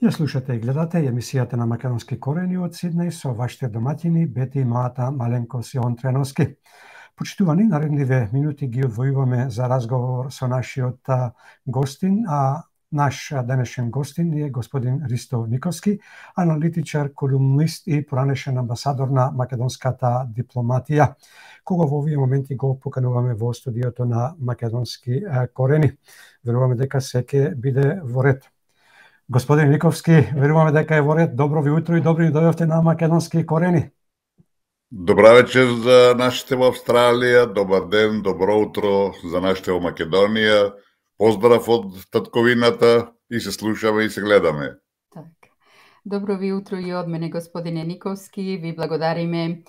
Ја слушате и гледате емисијата на Македонски корени од Сиднеј со вашите домаќини Бети, Мата, Маленкос и Онтреновски. Почитувани, наредниве минути ги одвојуваме за разговор со нашиот гостин, а наш денешен гостин е господин Ристо Никовски, аналитичар, колумнист и поранешен амбасадор на македонската дипломатија, кога во овие моменти го покануваме во студиото на Македонски корени. Веруваме дека се ќе биде во ред. Господин Никовски, веруваме дека е во ред. Добро ви утро и добро ни дојдовте на Македонски корени. Добра вечер за нашите во Австралија, добар ден, добро утро за нашите во Македонија. Поздрав од татковината и се слушаме и се гледаме. Так. Добро ви утро и од мене, господине Никовски. Ви благодариме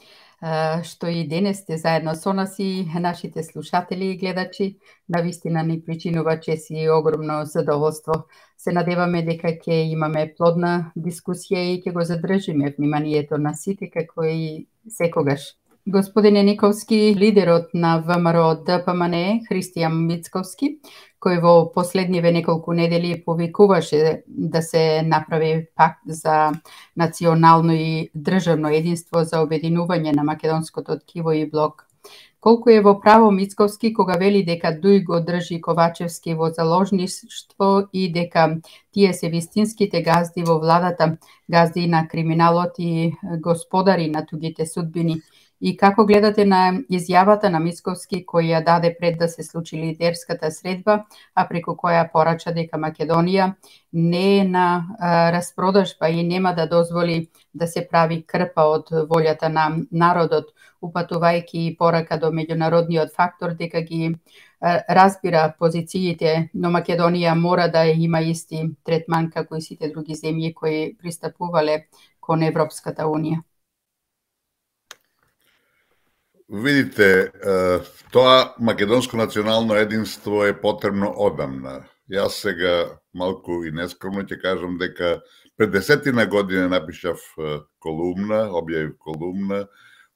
што и денес сте заедно со нас и нашите слушатели и гледачи. Навистина ни причинува чест и огромно задоволство. Се надеваме дека ќе имаме плодна дискусија и ќе го задржиме вниманието на сите како и секогаш. Господине Никовски, лидерот на ВМРО ДПМН Христијан Мицковски, кој во последниве неколку недели повикуваше да се направи пакт за национално и државно единство за обединување на македонското ткиво и блок. Колку е во право Мицковски кога вели дека Дуј го држи Ковачевски во заложништво и дека тие се вистинските газди во владата, газди на криминалот и господари на тугите судбини. И како гледате на изјавата на Мицковски кој ја даде пред да се случи лидерската средба, а преку која порача дека Македонија не е на распродажба и нема да дозволи да се прави крпа од волјата на народот, упатувајќи порака до меѓународниот фактор дека ги разбира позициите, но Македонија мора да има исти третман како и сите други земји кои пристапувале кон Европската Унија. Видите, тоа македонско национално единство е потребно одамна. Јас сега малку и нескромно ќе кажам дека пред 10 години напишав колумна, објавив колумна,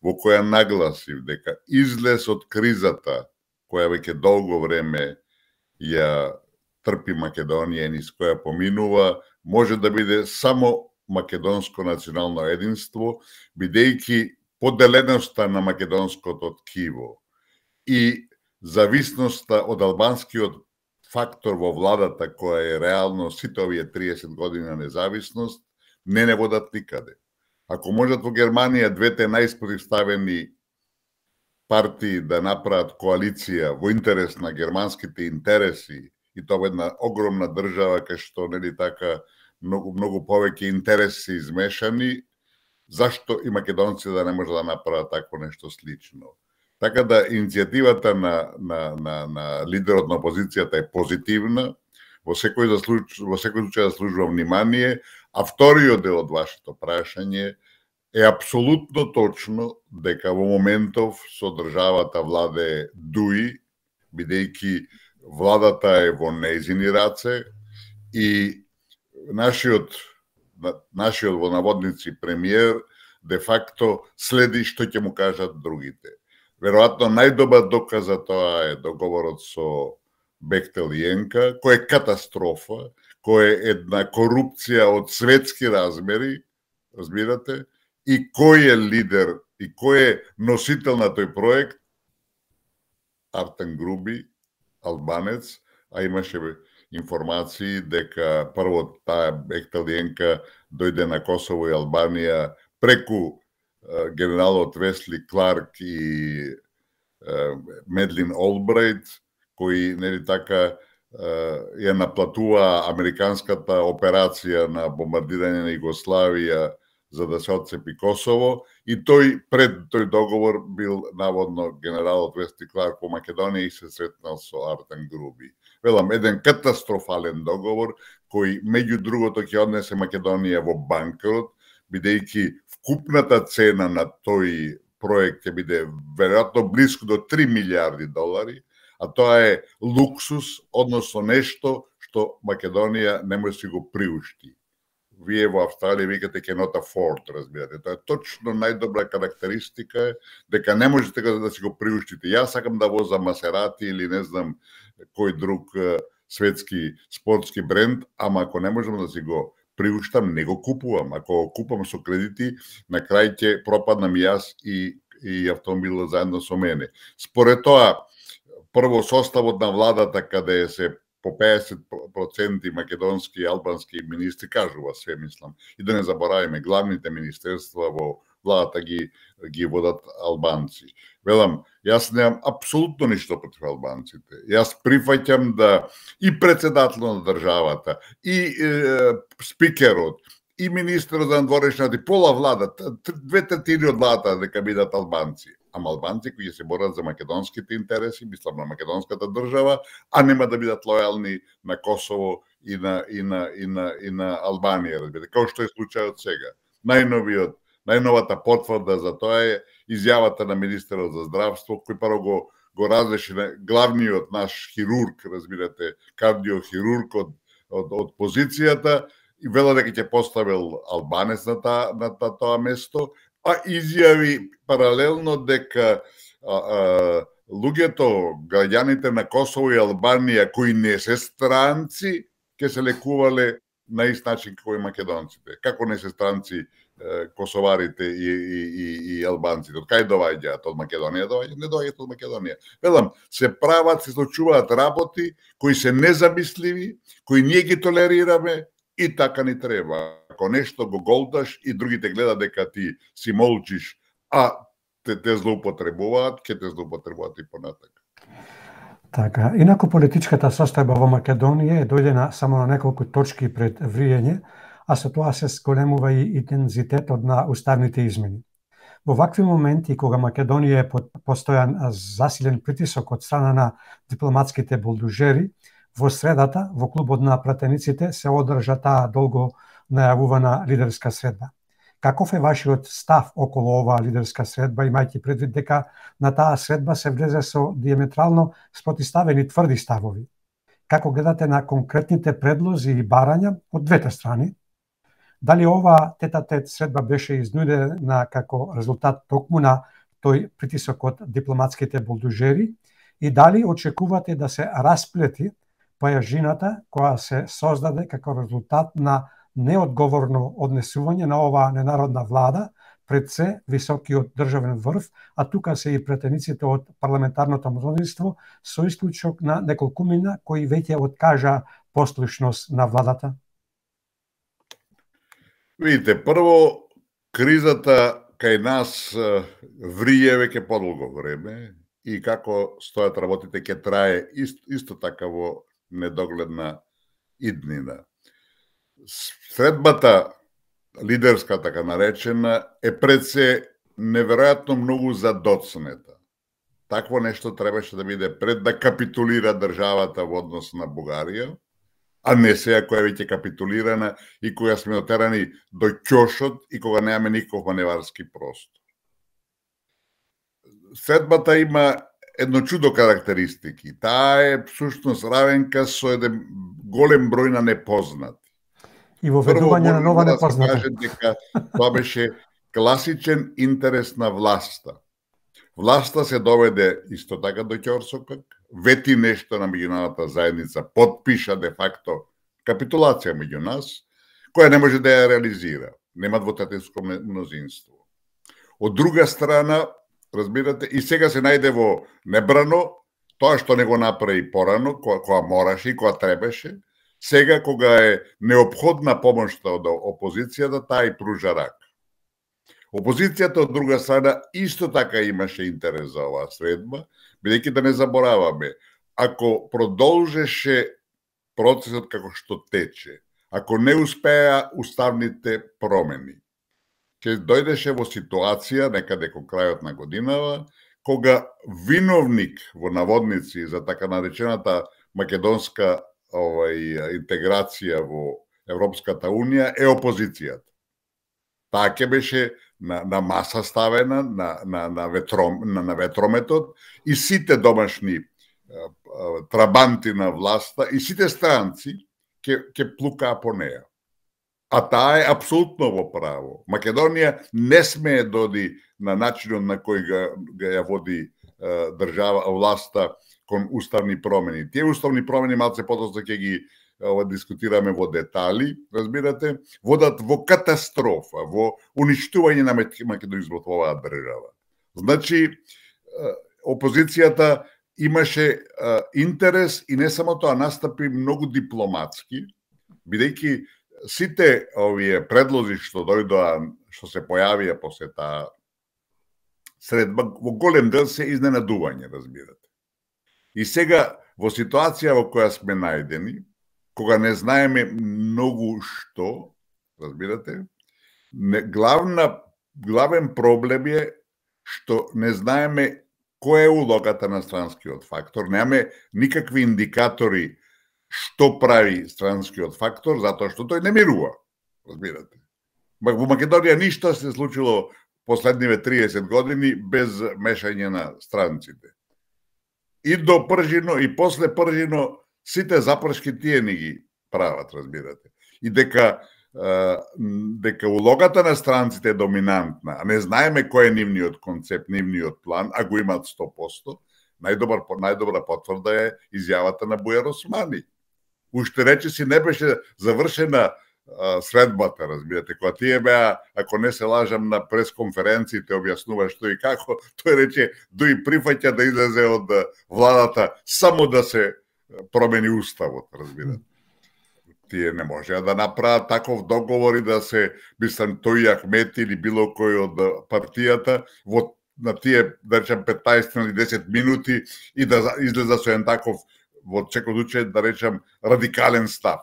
во која нагласив дека излез од кризата, која веќе долго време ја трпи Македонија и низ која поминува, може да биде само македонско национално единство, бидејќи поделеноста на македонското ткиво и зависноста од албанскиот фактор во владата, која е реално сите овие 30 години на независност, не водат никаде. Ако можат во Германија двете најспротивставени партии да направат коалиција во интерес на германските интереси, и тоа во една огромна држава кај што нели така многу повеќе интереси се измешани, зашто и македонците да не може да направат такво нешто слично. Така да иницијативата на лидерот на опозицијата е позитивна, во секој случај заслужува внимание, а вториот дел од вашето прашање е апсолутно точно дека во моментов со државата владее Дуј, бидејќи владата е во нејзини раце и нашиот во наводници премиер де факто следи што ќе му кажат другите. Веројатно најдобар доказ за тоа е договорот со Бехтел и Енка, кој е катастрофа, кој е една корупција од светски размери, разбирате, и кој е лидер и кој е носител на тој проект? Артем Груби, албанец, а имаше информации дека прво таа Бехтелиенка дојде на Косово и Албанија преку генералот Весли Кларк и Медлин Олбрайт, кои нели така ја наплатува американската операција на бомбардирање на Југославија за да се отцепи Косово, и тој пред тој договор бил наводно генералот Весли Кларк по Македонија и се сретнал со Артем Груби. Велам, еден катастрофален договор кој меѓу другото ќе однесе Македонија во банкрот, бидејќи вкупната цена на тој проект ќе биде веројатно блиску до 3 милиарди долари, а тоа е луксус, односно нешто што Македонија не може да си го приушти. Вие во Австралија викате cannot afford, разбирате. Тоа е точно најдобра карактеристика дека не можете да си го приуштите. Јас сакам да возам Масерати или не знам кој друг светски спортски бренд, ама ако не можам да си го приуштам, не го купувам. Ако го купам со кредити, на крај ќе пропаднам и јас и автомобилот заедно со мене. Според тоа, прво составот на владата, каде се по 50% македонски и албански министри, кажува све, мислам. И да не заборавиме, главните министерства во владата ги водат албанци. Велам, јас немам апсолутно ништо против албанците. Јас прифаќам да и председателот на државата, и спикерот, и министерот за надворешната, и пола владата, 2/3 од владата дека бидат албанци. Ама албанци кои се борат за македонските интереси, мислам на македонската држава, а нема да бидат лојални на Косово и на Албанија, разбирате, како што е случајот сега. Најновата потврда за тоа е изјавата на министерот за здравство, кој прво го разреши главниот наш хирург, разбирате, кардиохирург од позицијата, и вела дека ќе поставил албанец на тоа место, а изјави паралелно дека луѓето, граѓаните на Косово и Албанија кои не се странци, ќе се лекувале на ист начин како и македонците. Како не се странци косоварите и албанците? Од кај доаѓаат? Од Македонија доаѓаат? Не доаѓаат од Македонија. Велам, се случуваат работи кои се незамисливи, кои ние ги толерираме и така ни треба. Ако нешто го голдаш и другите гледат дека ти си молчиш, а те злоупотребуваат, ќе те злоупотребуваат и понатака. Така, инаку политичката состојба во Македонија е дојдена само на неколку точки пред вриење, а со тоа се зголемува и интензитетот на уставните измени. Во вакви моменти, кога Македонија е под постојан засилен притисок од страна на дипломатските булдужери, во средата, во клубот на пратениците, се одржа таа долго најавувана лидерска средба. Каков е вашиот став околу оваа лидерска средба, имајќи предвид дека на таа средба се влезе со диаметрално спротивставени тврди ставови? Како гледате на конкретните предлози и барања од двете страни? Дали оваа тет-а-тет средба беше изнудена како резултат токму на тој притисок од дипломатските булдужери и дали очекувате да се расплети појажината која се создаде како резултат на неодговорно однесување на оваа ненародна влада пред се високиот државен врв, а тука се и претениците од парламентарното мнозинство со исклучок на неколкумина кои веќе откажа послушност на владата? Видите, прво, кризата кај нас врие веќе подолго време и како стојат работите ќе трае исто така во недогледна иднина. Средбата лидерска, така наречена, е пред се неверојатно многу задоцнета. Такво нешто требаше да биде пред да капитулира државата во однос на Бугарија, а не сега која веќе капитулирана и која сме отерани до ќошот и кога немаме никаков маневарски простор. Средбата има едно чудо карактеристики. Таа е всушност равенка со еден голем број на непознати. И во ведување на нова непозната. Да се каже дека тоа беше класичен интерес на власта. Власта се доведе исто така до ќорсокак, вети нешто на меѓународната заедница, подпиша де факто капитулација меѓу нас, која не може да ја реализира. Нема двотретинско мнозинство. Од друга страна, разбирате, и сега се најде во небрано тоа што не го направи порано, која мораше и која требаше. Сега, кога е неопходна помошта од опозицијата, таа и пружа рак. Опозицијата, од друга страна, исто така имаше интерес за оваа средба, бидејќи да не забораваме, ако продолжеше процесот како што тече, ако не успеа уставните промени, ќе дојдеше во ситуација, некаде кон крајот на годинава, кога виновник во наводници за така наречената македонска интеграција во Европската Унија е опозицијата. Таа ќе беше на маса ставена, на ветрометот и сите домашни трабанти на власта и сите странци ќе плукаа по неа. А таа е апсолутно во право. Македонија не смее доди на начинот на кој ga ја води држава власта кон уставни промени. Тие уставни промени малце потоа ќе ги дискутираме во детали, разбирате, водат во катастрофа, во уништување на македонизмот во оваа држава. Значи, опозицијата имаше интерес и не само тоа, настапи многу дипломатски, бидејќи сите овие предлози што дојдоа, што се појавија после таа средба, во голем дел се изненадување, разбирате. И сега, во ситуација во која сме најдени, кога не знаеме многу што, разбирате, главен проблем е што не знаеме која е улогата на странскиот фактор, немаме никакви индикатори што прави странскиот фактор, затоа што тој не мирува, разбирате. Во Македонија ништо се случило последниве 30 години без мешање на странците. И до Пржино, и после Пржино, сите запршки тие ни ги прават, разбирате. И дека улогата на странците е доминантна, а не знаеме кој е нивниот концепт, нивниот план, а го имаат 100%, најдобра потврда е изјавата на Бујар Османи. Уште речиси не беше завршена средбата, разбирате, кога тие беа, ако не се лажам, на пресконференциите објаснува што и како, тој рече дои прифаќа да излезе од владата само да се промени уставот, разбирате. Тие не можеа да направат таков договор и да се, мислам, тој Ахмети или било кој од партијата на тие, да речем, 15 или 10 минути и да излеза со еден таков, во секој случај, да речем, радикален став.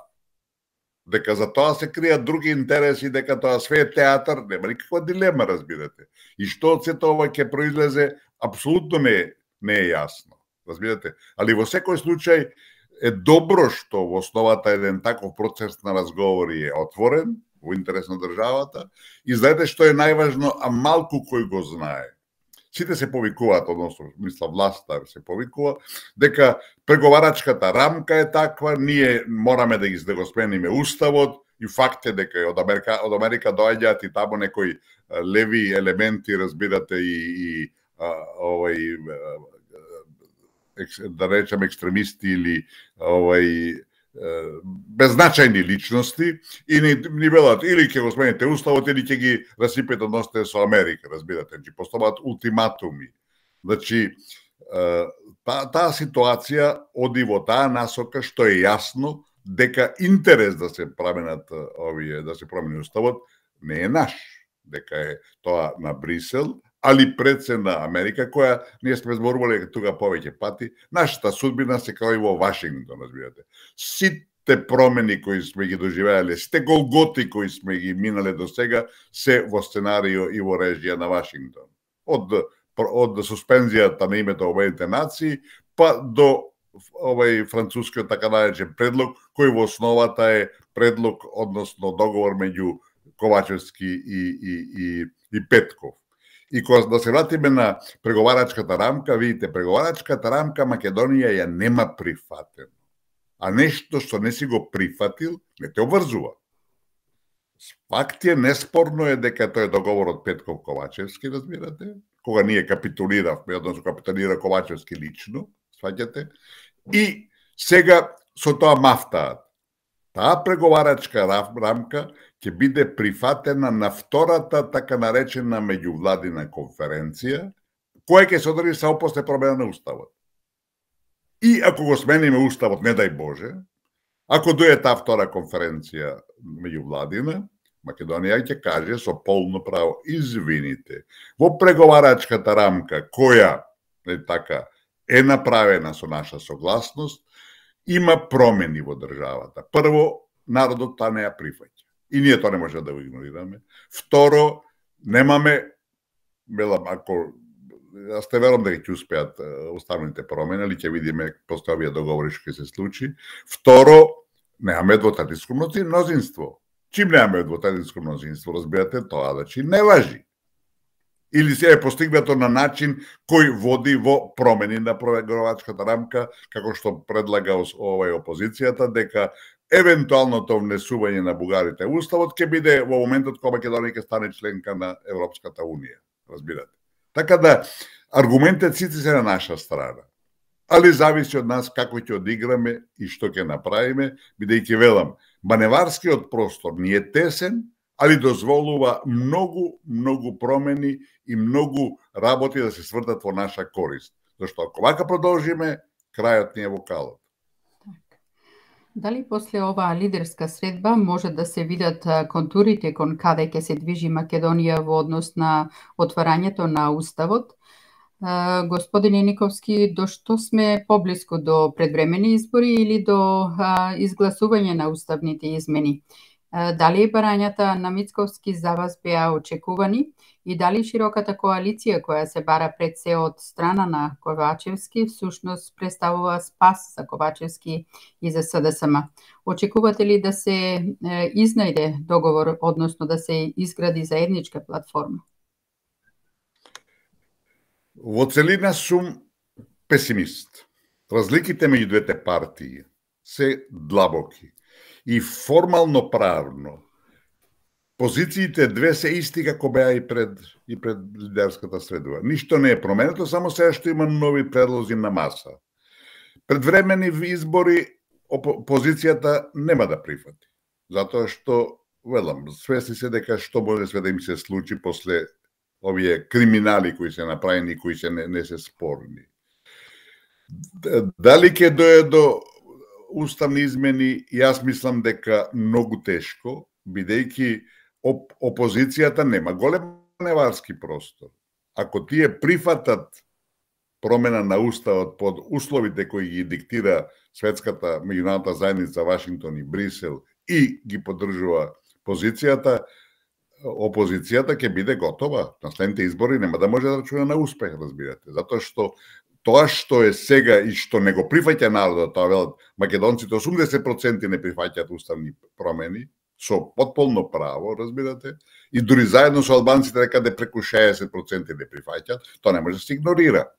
Дека за тоа се кријат други интереси, дека тоа све е театар, нема никаква дилема, разбирате. И што од сето ова ќе произлезе, апсолутно не е јасно, разбирате. Али во секој случај е добро што во основата еден таков процес на разговори е отворен, во интерес на државата, и знаете што е најважно, а малку кој го знае. Сите се повикуваат, односно, мисла, власта се повикува, дека преговарачката рамка е таква, ние мораме да го смениме уставот, и факт е дека од Америка доаѓаат и таму некои леви елементи, разбирате, и да речем екстремисти или беззначајни личности и ни велат или ќе го смените уставот или ќе ги расипете односите со Америка, разбирате, че поставаат ултиматуми. Значи, таа ситуација оди во таа насока што е јасно дека интерес да се променат да се промени уставот не е наш, дека е тоа на Брисел, али пред се на Америка, која ние сме зборувале тука повеќе пати, нашата судбина се кај во Вашингтон, разбирате. Сите промени кои сме ги доживеале, сите голготи кои сме ги минале до сега, се во сценарио и во режија на Вашингтон. Од суспензијата на името Обединените нации, па до францускиот така наречен предлог, кој во основата е предлог, односно договор меѓу Ковачевски и Петков. И кога да се вратиме на преговарачката рамка, видите, преговарачката рамка Македонија ја нема прифатено. А нешто што не си го прифатил, не те обврзува. Факт е, неспорно е дека тој договорот Петков-Ковачевски, разбирате, кога ние капитулиравме, односно капитулира Ковачевски лично, сваќате, и сега со тоа мафтаат. Таа преговарачка рамка ќе биде прифатена на втората така наречена меѓувладина конференција, која ќе содржи само после промена на уставот. И ако го смениме уставот, не дај Боже, ако дојде таа втора конференција меѓувладина, Македонија ќе каже со полно право, извините, во преговарачката рамка која е направена со наша согласност, има промени во државата. Прво, народот таа не ја прифаќа. И ние тоа не може да го игнорираме. Второ, немаме, велам, ако јас те верам дека ќе успеат уставните промени, или ќе видиме после овие договори што ќе се случи. Второ, немаме двотретинско мнозинство. Чим немаме двотретинско мнозинство, разбирате, тоа значи не важи. Или се е постигнато на начин кој води во промени на преговарачката рамка, како што предлага опозицијата, дека евентуалното внесување на бугарите уставот ќе биде во моментот кога Македонија ќе стане членка на Европската унија, разбирате. Така да аргументите сите се на наша страна. али зависи од нас како ќе одиграме и што ќе направиме, бидејќи велам, маневарскиот простор не е тесен, али дозволува многу промени и многу работи да се свртат во наша корист. Зашто ако вака продолжиме, крајот ни е во калот. Дали после оваа лидерска средба може да се видат контурите кон каде ќе се движи Македонија во однос на отварањето на Уставот? Господине Никовски, до што сме поблиску до предвремени избори или до изгласување на уставните измени? Дали барањата на Мицковски за вас беа очекувани и дали широката коалиција која се бара пред се од страна на Ковачевски всушност представува спас за Ковачевски и за СДСМ? Очекувате ли да се изнајде договор, односно да се изгради заедничка платформа? Во целина сум песимист. Разликите меѓу двете партии се длабоки и формално правно позициите две се исти како беа и пред лидерската средба. Ништо не е променето, само сега што има нови предлози на маса. Предвремени избори опозицијата нема да прифати, затоа што велам, свесни се дека што може све да им се случи после овие криминали кои се направени, кои се не се спорни. Дали ќе дое до уставни измени, јас мислам дека многу тешко, бидејќи опозицијата нема голем маневарски простор. Ако тие прифатат промена на уставот под условите кои ги диктира светската меѓународната заедница Вашингтон и Брисел и ги поддржува опозицијата ќе биде готова. На следните избори нема да може да рачуна на успех, разбирате. Затоа што тоа што е сега и што не го прифаќа народот, тоа велат македонците 80% не прифаќаат уставни промени, со потполно право, разбирате, и дури заедно со албанците некаде преку 60% не прифаќаат, тоа не може да се игнорира.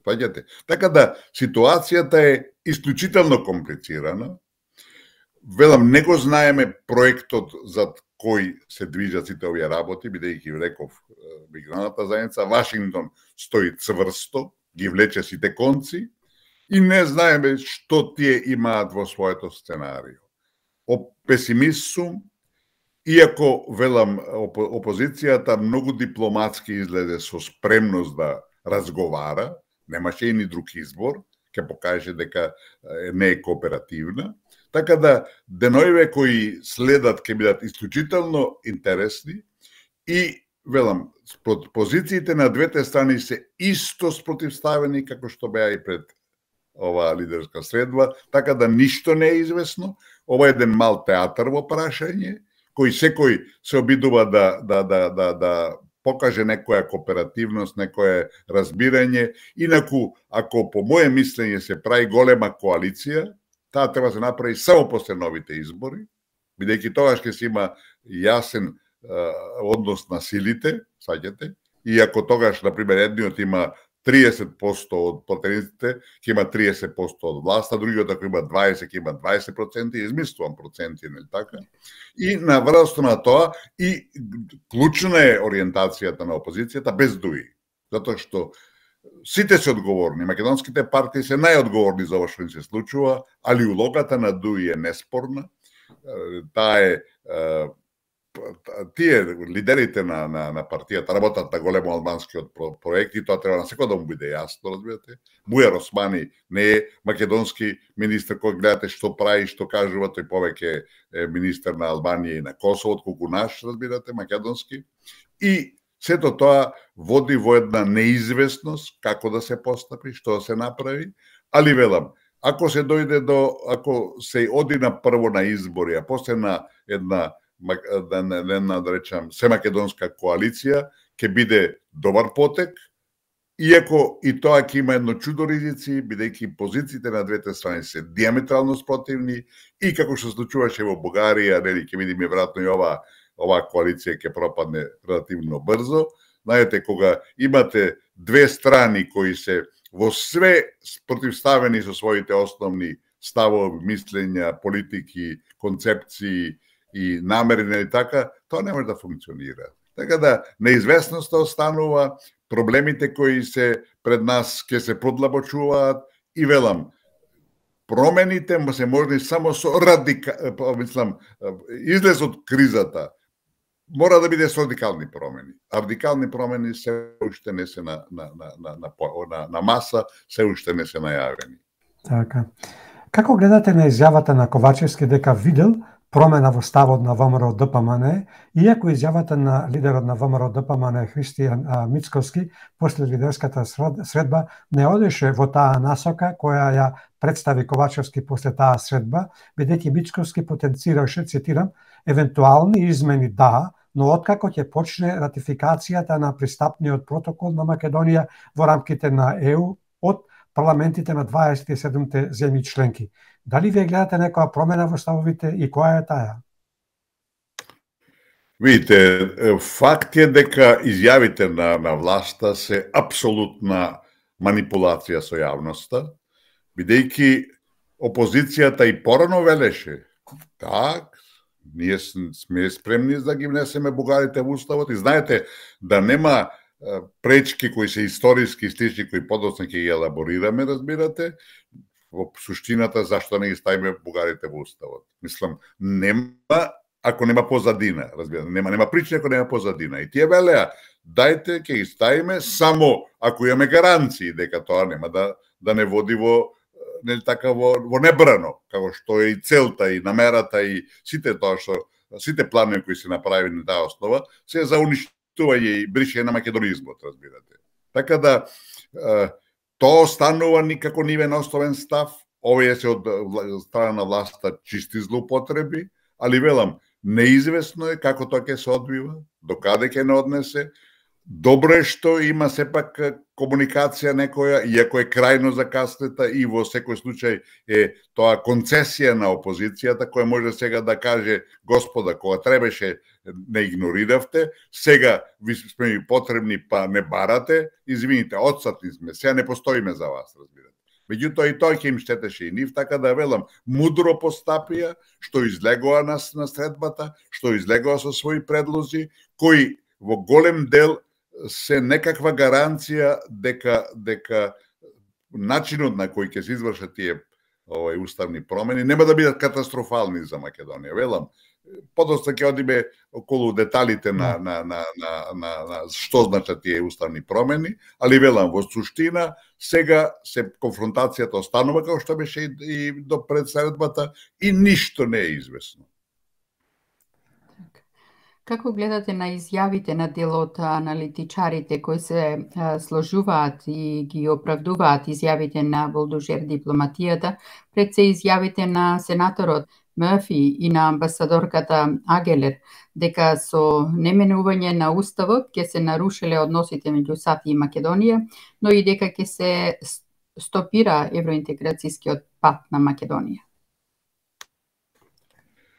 Фаќате? Така да ситуацијата е исклучително комплицирана. Велам, не го знаеме проектот за кој се движат сите овие работи, бидејќи реков меѓународната заедница Вашингтон стои цврсто, ги влече сите конци и не знаеме што тие имаат во своето сценарио. Песимист сум, иако велам опозицијата многу дипломатски излезе со спремност да разговара, немаше и ни друг избор, ќе покаже дека не е кооперативна. Така да деноиве кои следат ќе бидат исклучително интересни и велам, позициите на двете страни се исто спротивставени како што беа и пред оваа лидерска средба, така да ништо не е известно. Ова е еден мал театар во прашање, кој секој се обидува да покаже некоја кооперативност, некое разбирање. Инаку, ако по моје мислење се прави голема коалиција, таа треба да се направи само после новите избори, бидејќи тогаш ќе се има јасен однос на силите, саѓате, и ако тогаш, например, едниот има 30% од противниците, ќе има 30% од власта, другиот ако има 20%, ќе има 20%, измислувам проценти, нели така? И на връзка на тоа, и клучна е ориентацијата на опозицијата без дуи, затоа што сите се одговорни, македонските партии се најодговорни за ова што им се случува, али улогата на дуи е неспорна. Таа е тие лидерите на партијата работат на големо албанскиот проект и тоа треба на секој да му биде јасно, разбирате. Бујар Османи не е македонски министр кој гледате што прави, што кажува, тој повеќе е министр на Албанија и на Косово, отколку наш, разбирате, македонски. И сето тоа води во една неизвестност како да се постапи, што да се направи, али велам, ако се дојде ако се оди на прво на избори, а после на една да речам, семакедонска коалиција, ќе биде добар потек, иако и тоа ќе има едно чудо ризици, бидејќи позициите на двете страни се диаметрално спротивни и како што случуваше во Бугарија, нели ќе видиме веројатно и оваа коалиција ќе пропадне релативно брзо. Знаете, кога имате две страни кои се во све спротивставени со своите основни ставови, мислења, политики, концепции и намери, нели така, тоа не може да функционира. Така да, неизвестноста останува, проблемите кои се пред нас ќе се продлабочуваат и велам, промените се можни само со излез од кризата. Мора да биде со радикални промени. А радикални промени се уште не се на маса, се уште не се најавени. Така. Како гледате на изјавата на Ковачевски дека видел промена во ставот на ВМРО ДПМН, иако изјавата на лидерот на ВМРО ДПМН Христијан Мицковски после лидерската средба не одеше во таа насока која ја представи Ковачевски после таа средба, бидејќи Мицковски потенцираше, цитирам, евентуални измени да, но откако ќе почне ратификацијата на пристапниот протокол на Македонија во рамките на ЕУ од парламентите на 27 земји членки. Дали вие гледате некоја промена во ставовите и која е таа? Видите, факт е дека изјавите на власта се апсолутна манипулација со јавноста, бидејќи опозицијата и порано велеше, так, ние сме спремни да ги внесеме бугарите во уставот и знаете да нема пречки кои се историски стични, кои подоцна ќе ги елаборираме, разбирате, во суштината зашто не ги ставиме бугарите во уставот. Мислам, нема ако нема позадина, разбирате, нема причина ако нема позадина. И тие велеа, дајте ќе ги ставиме само ако имаме гаранции дека тоа нема да не води во нели така во небрано, како што е и целта и намерата и сите планови кои се направени на таа основа се за уништување и бришење на македонизмот, разбирате. Така да тоа останува никако нивен основен став, овие се од страна на власта чисти злоупотреби, али велам, неизвестно е како тоа ќе се одвива, докаде ќе не однесе. Добро е што има сепак комуникација некоја, иако е крајно закаснета и во секој случај е тоа концесија на опозицијата, која може сега да каже, господа, кога требаше не игнориравте, сега ви сме ми потребни па не барате, извините, отсатни сме, сега не постоиме за вас, разбирате. Меѓутоа и тоа ќе им штетеше и нив, така да велам, мудро постапија, што излегоа на средбата, што излегоа со своји предлози, кои во голем дел се некаква гаранција дека начинот на кој ќе се извршат тие уставни промени нема да бидат катастрофални за Македонија. Велам, подоцна ќе одиме околу деталите на што значат тие уставни промени, али велам, во суштина, сега се конфронтацијата останува како што беше и до пред средбата и ништо не е известно. Како гледате на изјавите на дел од аналитичарите кои се сложуваат и ги оправдуваат изјавите на Болдужер дипломатијата, пред се изјавите на сенаторот Мърфи и на амбасадорката Агелер, дека со неменување на уставот ќе се нарушиле односите меѓу САД и Македонија, но и дека ќе се стопира евроинтеграцијскиот пат на Македонија?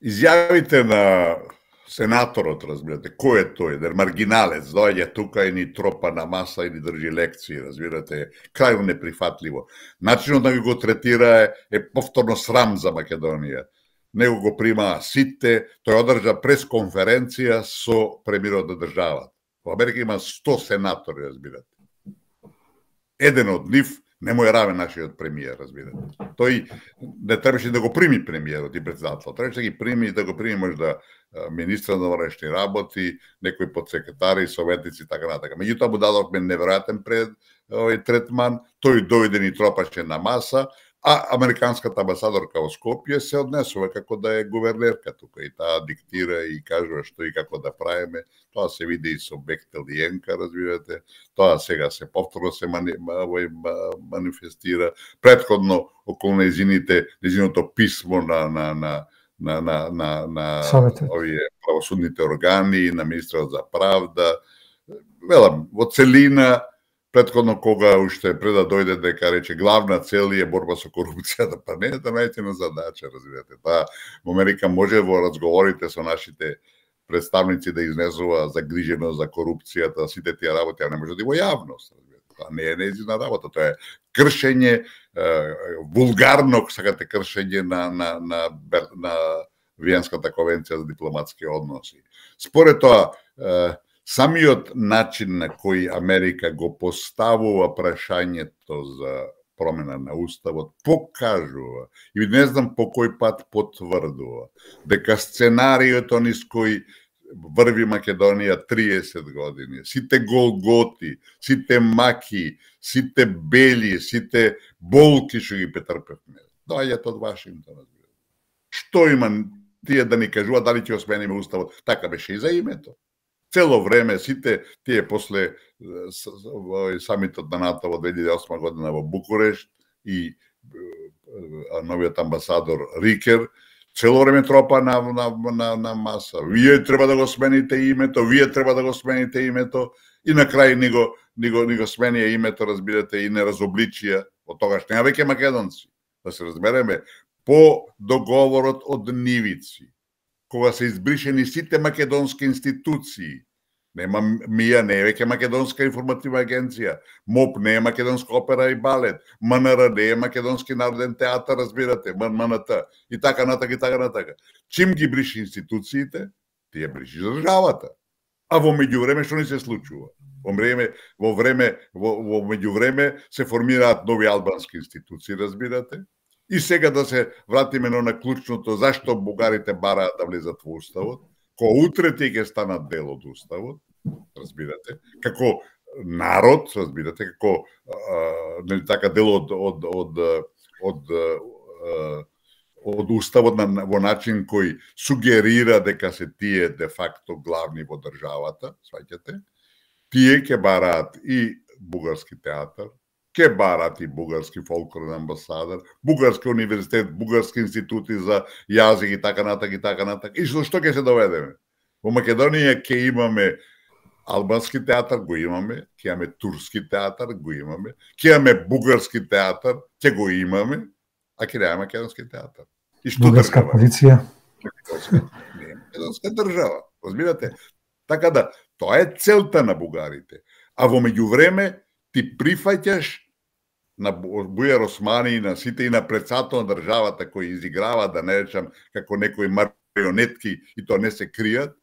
Изјавите на сенаторот, разбирате, кој е тој, дер маргиналец, доаѓа тука и ни тропа на маса и ни држи лекции, разбирате, крајно неприфатливо. Начинот да го третира е повторно срам за Македонија. Него го прима сите, тој одржа пресконференција со премиерот на државата. Во Америка има 100 сенатори, разбирате. Еден од нив не му е равен нашиот премиер, разбирате. Тој не требаше да го прими премиерот и председател. Требаше да ги прими и да го прими можда министра на внешни работи, некои подсекретари, советници и така натака. Меѓутоа му дадовме неверојатен третман, тој дојде ни тропаше на маса, а американската амбасадорка во Скопје се однесува како да е гувернерка тука и таа диктира и кажува што и како да правиме. Тоа се види и со Бехтел и Енка, разбирате. Тоа сега се повторно се манифестира. Претходно околу нејзиното писмо на овие правосудните органи, на министерот за правда. Велам, во целина, претходно кога уште пред да дојде дека рече главна цел е борба со корупцијата, па не е да најдена задача, разбирате. Таа во Америка може во разговорите со нашите представници да изнесува загриженост за корупцијата, сите тие работи, а не може да во јавност. Тоа не е нејзина работа, тоа е кршење, вулгарно, сакате, кршење на Виенската конвенција за дипломатски односи. Според тоа, самиот начин на кој Америка го поставува прашањето за промена на уставот покажува и не знам по кој пат потврдува дека сценариото низ кој врви Македонија 30 години, сите голготи, сите маки, сите бели, сите болки што ги претрпевме, доаѓаат од Вашингтон. Што има тие да ни кажуваат дали ќе осмениме уставот? Така беше и за името. Цело време сите тие после самитот на НАТО во 2008 година во Букурешт и новиот амбасадор Рикер, цело време тропа на маса. Вие треба да го смените името, вие треба да го смените името и на крај ни го сменија името, разбирате, и не разобличија од тогаш не веќе македонци. Да се разбереме, по договорот од Нивици, кога се избришени сите македонски институции, нема МИА, не е веќе Македонска информативна агенција, МОП не е Македонска опера и балет, МНР не е Македонски народен театар, разбирате, МНТ, и така натака, и така натака. Чим ги бриши институциите, тие бриши државата. А во меѓувреме што ни се случува? Во меѓувреме се формираат нови албански институции, разбирате? И сега да се вратиме на клучното, зашто бугарите бараат да влезат во уставот, ко утре тие ќе станат дел од уставот, разбирате, како народ, разбирате, како нели така дел од уставот во начин кој сугерира дека се тие де факто главни во државата, сваќате, тие ќе бараат и бугарски театар, ќе бараат и бугарски фолклорен амбасадор, бугарски универзитет, бугарски институти за јазик и така натак и така натак. И што ќе се доведеме? Во Македонија ќе имаме албански театар, го имаме, ќе имаме турски театар, го имаме, ќе имаме бугарски театар, ќе го имаме, а ќе немаме македонски театар. И што бугарска полиција? Не, македонска држава, разбирате? Така да, тоа е целта на бугарите. А во меѓувреме ти прифаќаш на Бујар Османи и на сите и на председател на државата кои изиграва, да не речам, како некои марионетки и тоа не се кријат,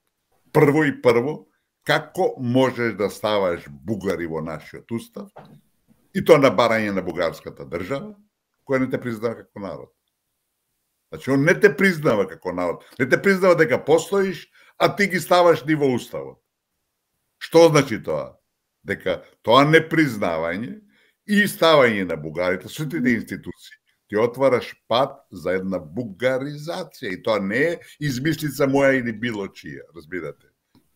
прво, како можеш да ставаш бугари во нашиот устав и тоа на барање на бугарската држава, која не те признава како народ. Значи, он не те признава како народ, не те признава дека постоиш, а ти ги ставаш ни во уставот. Што значи тоа? Дека тоа непризнавање и ставање на бугарите, сите институции, ти отвараш пат за една бугаризација и тоа не е измислица моја или било чија, разбирате.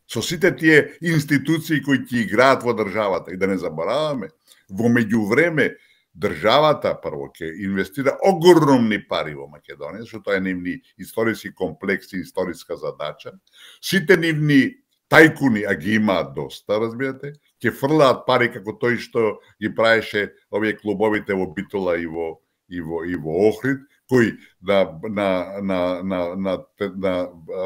Со сите тие институции кои ќе играат во државата и да не забораваме, во меѓувреме државата прво ќе инвестира огромни пари во Македонија, што тоа е нивни историски комплекс и историска задача. Сите нивни тајкуни, а ги имаат доста, разбирате, ќе фрлаат пари како тој што ги правеше овие клубовите во Битола и во Охрид, кој на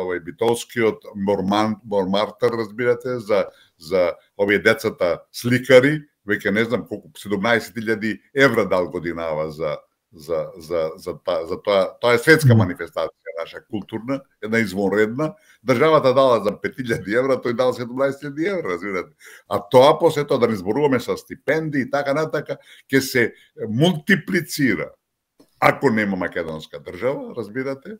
овој битолскиот Мормартер, разбирате, за овие децата сликари, веќе не знам колку 17.000 евра дал годинава за тоа. Тоа е светска манифестација, наша културна, една извонредна. Државата дала за 5.000 евра, тој дал 17.000 евра, разбирате. А тоа после тоа да не зборуваме со стипендии и така натака, ќе се мултиплицира. Ако нема македонска држава, разбирате,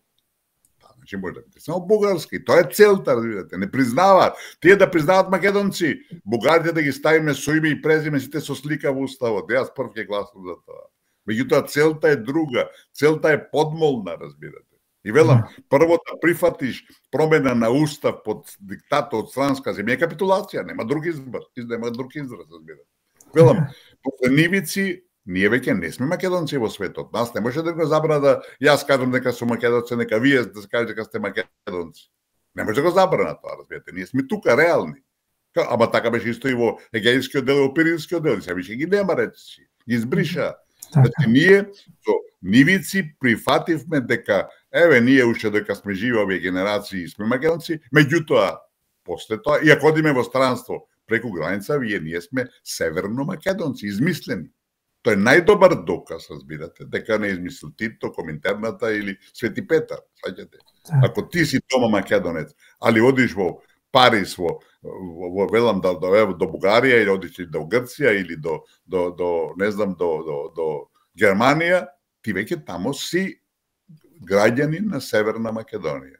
значи може да биде само бугарски. Тоа е целта, разбирате. Не признаваат. Тие да признаваат македонци, бугарите да ги ставиме со име и презиме, сите со слика во уставот. Јас прв ќе гласам за тоа. Меѓутоа целта е друга, целта е подмолна, разбирате. И велам, прво да прифатиш промена на устав под диктата од странска земја, капитулација, нема друг израз, разбирате. Велам, после Нивици, ние веќе не сме македонци во светот. Нас не може да го забрана да јас кажам дека сум македонци, нека вие да се кажете дека сте македонци. Не може да го забрана тоа, разбирате. Ние сме тука реални. Ама така беше исто и во Егејскиот дел и во Пиринскиот дел, се више ги нема речи, ги избриша. Значи, ние со Нивици прифативме дека, еве, ние уште дека сме живи овие генерации сме македонци, меѓутоа, после тоа, и ако одиме во странство преку граница, ние сме северно македонци, измислени. Тоа е најдобар доказ, разбирате, дека не измислил Тито, Коминтерната или Свети Петар, саѓате. Ако ти си дома македонец, али одиш во Париз, велам до Бугарија или одиш до Грција или до не знам до Германија, ти веќе тамо си граѓанин на Северна Македонија.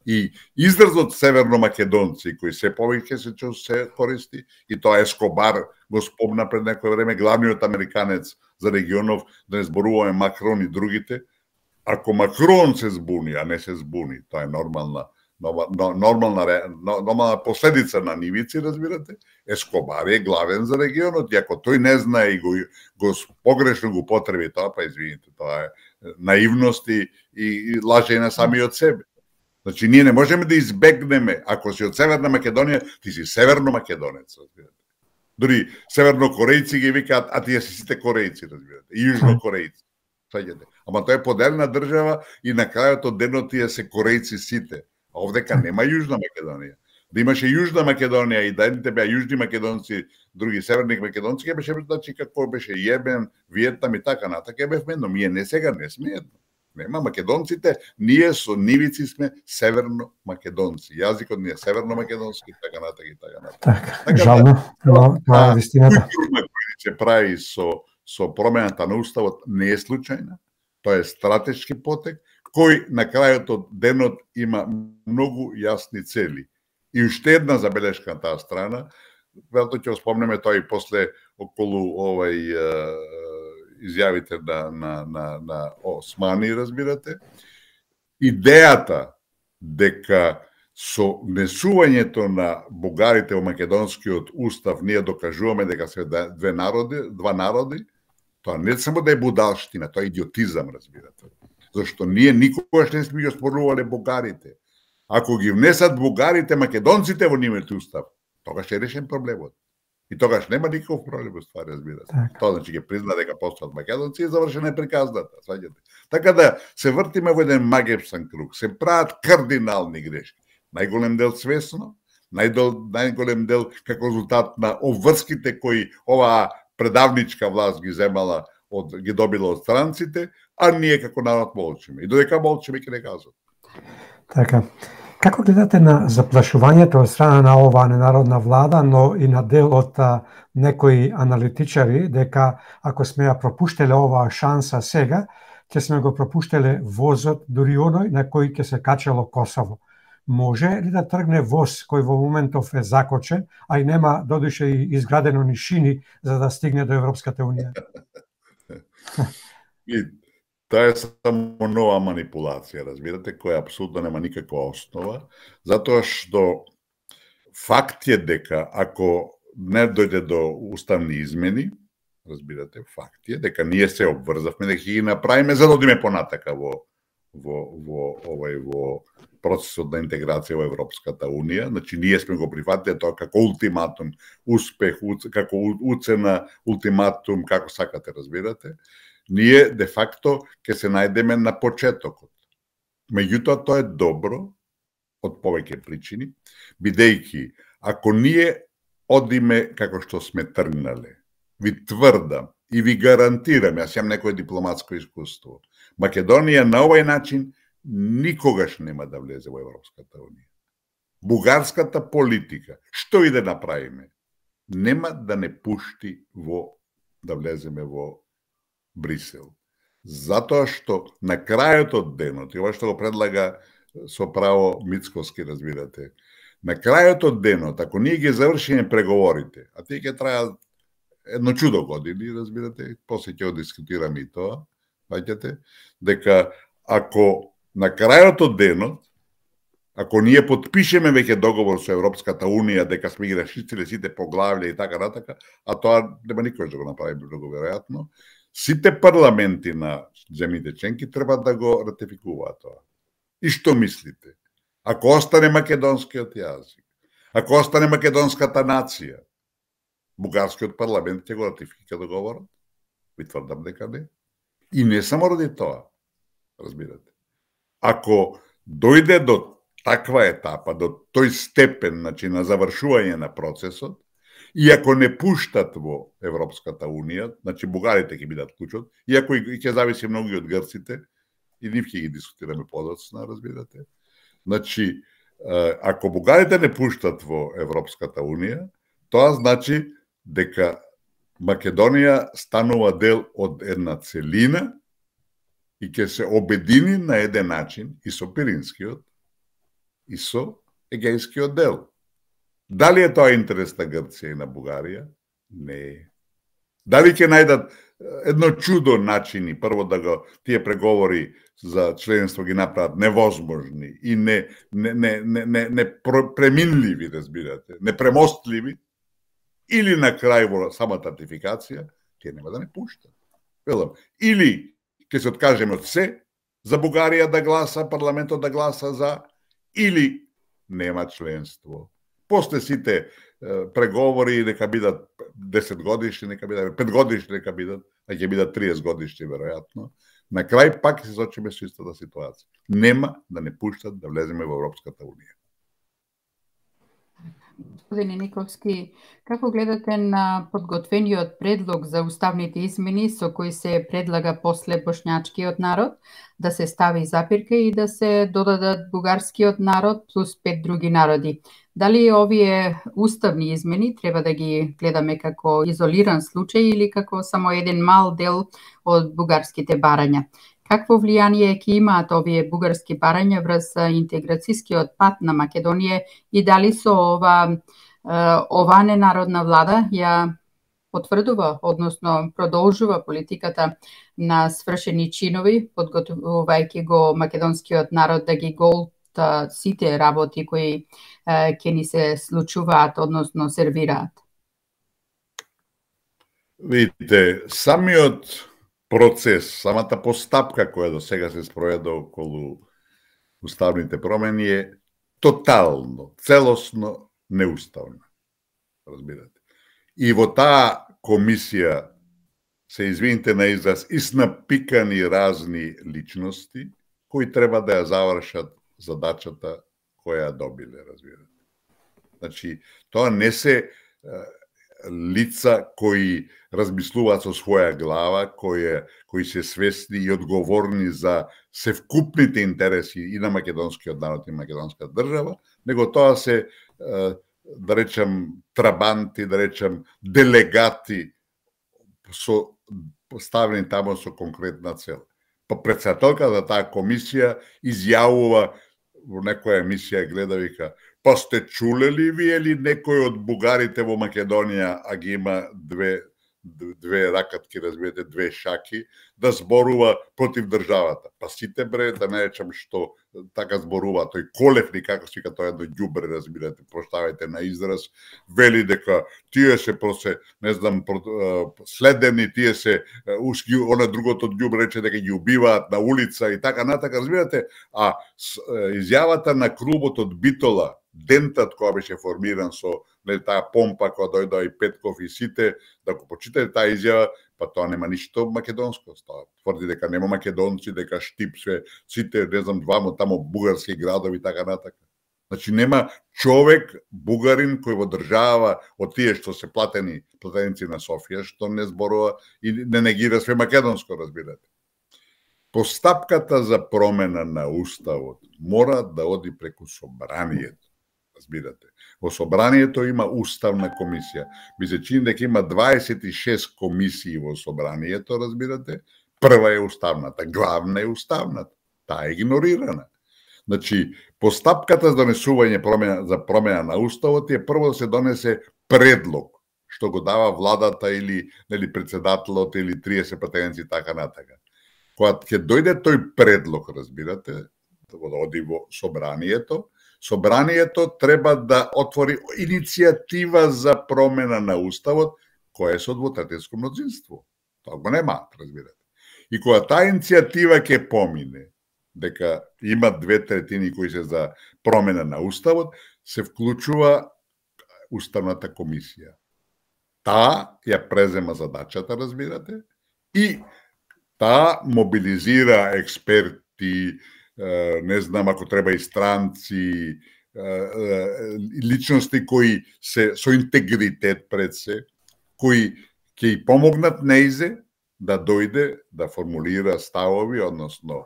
И изразот северномакедонци, кој се повеќе се користи, и тоа Ескобар го спомна пред некој време, главниот американец за регионов, да не зборуваме Макрон и другите. Ако Макрон се збуни, а не се збуни, тоа е нормална последица на нивици, разбирате, Ескобар е главен за регионот, и ако тој не знае и го погрешно го потреби тоа, па извините, тоа е наивност и лаже на самиот себе. Значи, ние не можеме да избегнеме, ако си од Северна Македонија, ти си северно-македонец, разбирате. Дори севернокорејци ги викаат, а тие си сите корејци, разбирате, и јужнокорејци. Ама тоа е поделена држава и на крајот од денот тие се корејци сите. А овдека нема Јужна Македонија. Да имаше Јужна Македонија и да едните беа јужни македонци, други северни македонци, ќе беше, значи, како беше Јемен, Виетнам и така натака, бевме едно. Ние не сега не сме едно. Нема македонците, ние со нивици сме северно-македонци. Јазикот ни е северно-македонски, така натака и така натака. Така, жално, но тоа е вистината. Културна која се прави со промената на уставот не е случајна. Тоа е стратешки потек, кој на крајот од денот има многу јасни цели. И уште една забелешка на таа страна, велто ќе спомнеме тоа и после околу изјавите на Османи, разбирате. Идејата дека со внесувањето на бугарите во македонскиот устав ние докажуваме дека се два народи, тоа не само да е будалштина, тоа е идиотизам, разбирате. Зашто ние никогаш не сме ги оспорувале бугарите. Ако ги внесат бугарите, македонците во нивниот устав, тогаш е решен проблемот. И тогаш нема никаков проблем во ствари, разбирате. Тоа значи ќе призна дека постојат македонци и завршена е приказната, сваѓате. Така да се вртиме во еден магепсан круг, се прават кардинални грешки. Најголем дел свесно, најголем дел како резултат на обврските кои оваа предавничка власт ги земала, ги добила од странците, а ние како народ молчиме. И додека молчиме ќе не кажат. Така. Како гледате на заплашувањето од страна на оваа ненародна влада, но и на дел од некои аналитичари, дека ако сме ја пропуштеле оваа шанса сега, ќе сме го пропуштеле возот, дури оној на кој ќе се качело Косово? Може ли да тргне воз кој во моментов е закочен, а и нема додуше и изградено ни шини за да стигне до Европската унија? Тоа е само нова манипулација, разбирате, која апсолутно нема никаква основа, затоа што факт е дека ако не дојде до уставни измени, разбирате, факт е дека ние се обврзавме дека ќе ги направиме за да одиме понатака во процесот на интеграција во Европската унија. Значи ние сме го прифатиле тоа како ултиматум, успех, како уцена, ултиматум, како сакате, разбирате. Ние, де факто, ќе се најдеме на почетокот. Меѓутоа, тоа е добро, од повеќе причини, бидејќи, ако ние одиме како што сме тргнале, ви тврдам и ви гарантирам, јас имам некој дипломатско искуство, Македонија на овој начин никогаш нема да влезе во Европската унија. Бугарската политика, што и да направиме, нема да не пушти да влеземе во Брисел. Затоа што на крајот од денот, и ова што го предлага со право Мицкоски, разбирате, на крајот од денот, ако ние ги завршиме преговорите, а тие ќе трајат едно чудо години, разбирате, после ќе го дискутираме и тоа, ваќате, дека ако на крајот од денот, ако ние подпишеме веќе договор со Европската унија дека сме ги расчистиле сите поглавја и така натака, а тоа нема никој да го направи многу веројатно, сите парламенти на земјите членки треба да го ратификуваат тоа. И што мислите? Ако остане македонскиот јазик, ако остане македонската нација, бугарскиот парламент ќе го ратификува договорот? Ви тврдам дека не. И не само ради тоа, разбирате. Ако дојде до таква етапа, до тој степен, значи на завршување на процесот, и ако не пуштат во Европската унија, значи бугарите ќе бидат клучот, иако и ќе зависи многу од грците, и нив ќе ги дискутираме подоцна, разбирате. Значи, ако бугарите не пуштат во Европската унија, тоа значи дека Македонија станува дел од една целина и ќе се обедини на еден начин и со Пиринскиот и со Егејскиот дел. Дали е тоа интерес на Грција и на Бугарија? Не е. Дали ќе најдат едно чудо начини, прво да го тие преговори за членство ги направат невозможни и преминливи, разбирате, непремостливи, или на крај во самата ратификација, ќе нема да не пуштат. Велам, или ќе се откажеме од се, за Бугарија да гласа, парламентот да гласа за, или нема членство. После сите преговори нека бидат 10 годишни, нека бидат 5 годишни, нека бидат, а ќе бидат 30 годишни веројатно. На крај пак се сочиме со истата ситуација. Нема да не пуштат да влеземе во Европската унија. Господине Никовски, како гледате на подготвениот предлог за уставните измени со кои се предлага после бошњачкиот народ да се стави запирка и да се додадат бугарскиот народ плюс 5 други народи? Дали овие уставни измени треба да ги гледаме како изолиран случај или како само еден мал дел од бугарските барања? Какво влијание ќе имаат овие бугарски барања врз интеграцијскиот пат на Македонија и дали со ова ненародна влада ја потврдува, односно продолжува политиката на свршени чинови, подготвувајќи го македонскиот народ да ги голта сите работи кои ќе ни се случуваат, односно сервираат? Видите, самиот процес, самата постапка која до сега се спроведе околу уставните промени е тотално, целосно неуставна. Разбирате. И во таа комисија се, извините на израз, иснапикани разни личности кои треба да ја завршат задачата која ја добиле, разбирате. Значи, тоа не се лица кои размислуваат со своја глава, кои се свесни и одговорни за севкупните интереси и на македонскиот народ и македонската држава, него тоа се, да речем, трабанти, да речем, делегати поставени тамо со конкретна цел. Председателка за таа комисија изјавува во некоја емисија, гледа, вика, па сте чулели вие ли некој од бугарите во Македонија, а ги има две ракатки, разбирате, две шаки, да зборува против државата? Па сите, бре, да не речам што така зборува, тој Колевни, како се вика, тоа едно ѓубре, разбирате, проставајте на израз, вели дека тие се не знам, следени, тие се, она другото ѓубре рече дека ги убиваат на улица и така натака, разбирате, а изјавата на клубот од Битола, дентат која беше формиран со таа помпа која дојдоа и Петков и сите, да го почитате таа изјава, па тоа нема ништо македонско. Тоа тврди дека нема македонци, дека Штип сите, не знам, двамо тамо бугарски градови и така натака. Значи нема човек бугарин кој во држава од тие што се платеници на Софија, што не зборува и не негира све македонско, разбирате. Постапката за промена на уставот мора да оди преку собранието. Разбирате. Во собранието има уставна комисија. Ми се чини дека има 26 комисии во собранието, разбирате. Прва е уставната, главна е уставната. Таа е игнорирана. Значи, постапката за донесување за промена на уставот е прво да се донесе предлог, што го дава владата или председателот или 30 претенденци така натака. Кога ќе дојде тој предлог, разбирате, да оди во собранието, собранието треба да отвори иницијатива за промена на уставот, која е со двотретинско мнозинство. Тоа го нема, разбирате. И кога таа иницијатива ќе помине, дека има 2/3 кои се за промена на уставот, се вклучува уставната комисија. Таа ја презема задачата, разбирате, и таа мобилизира експерти, не знам, ако треба и странци, личности кои се со интегритет пред се, кои ќе и помогнат неизе да дојде да формулира ставови, односно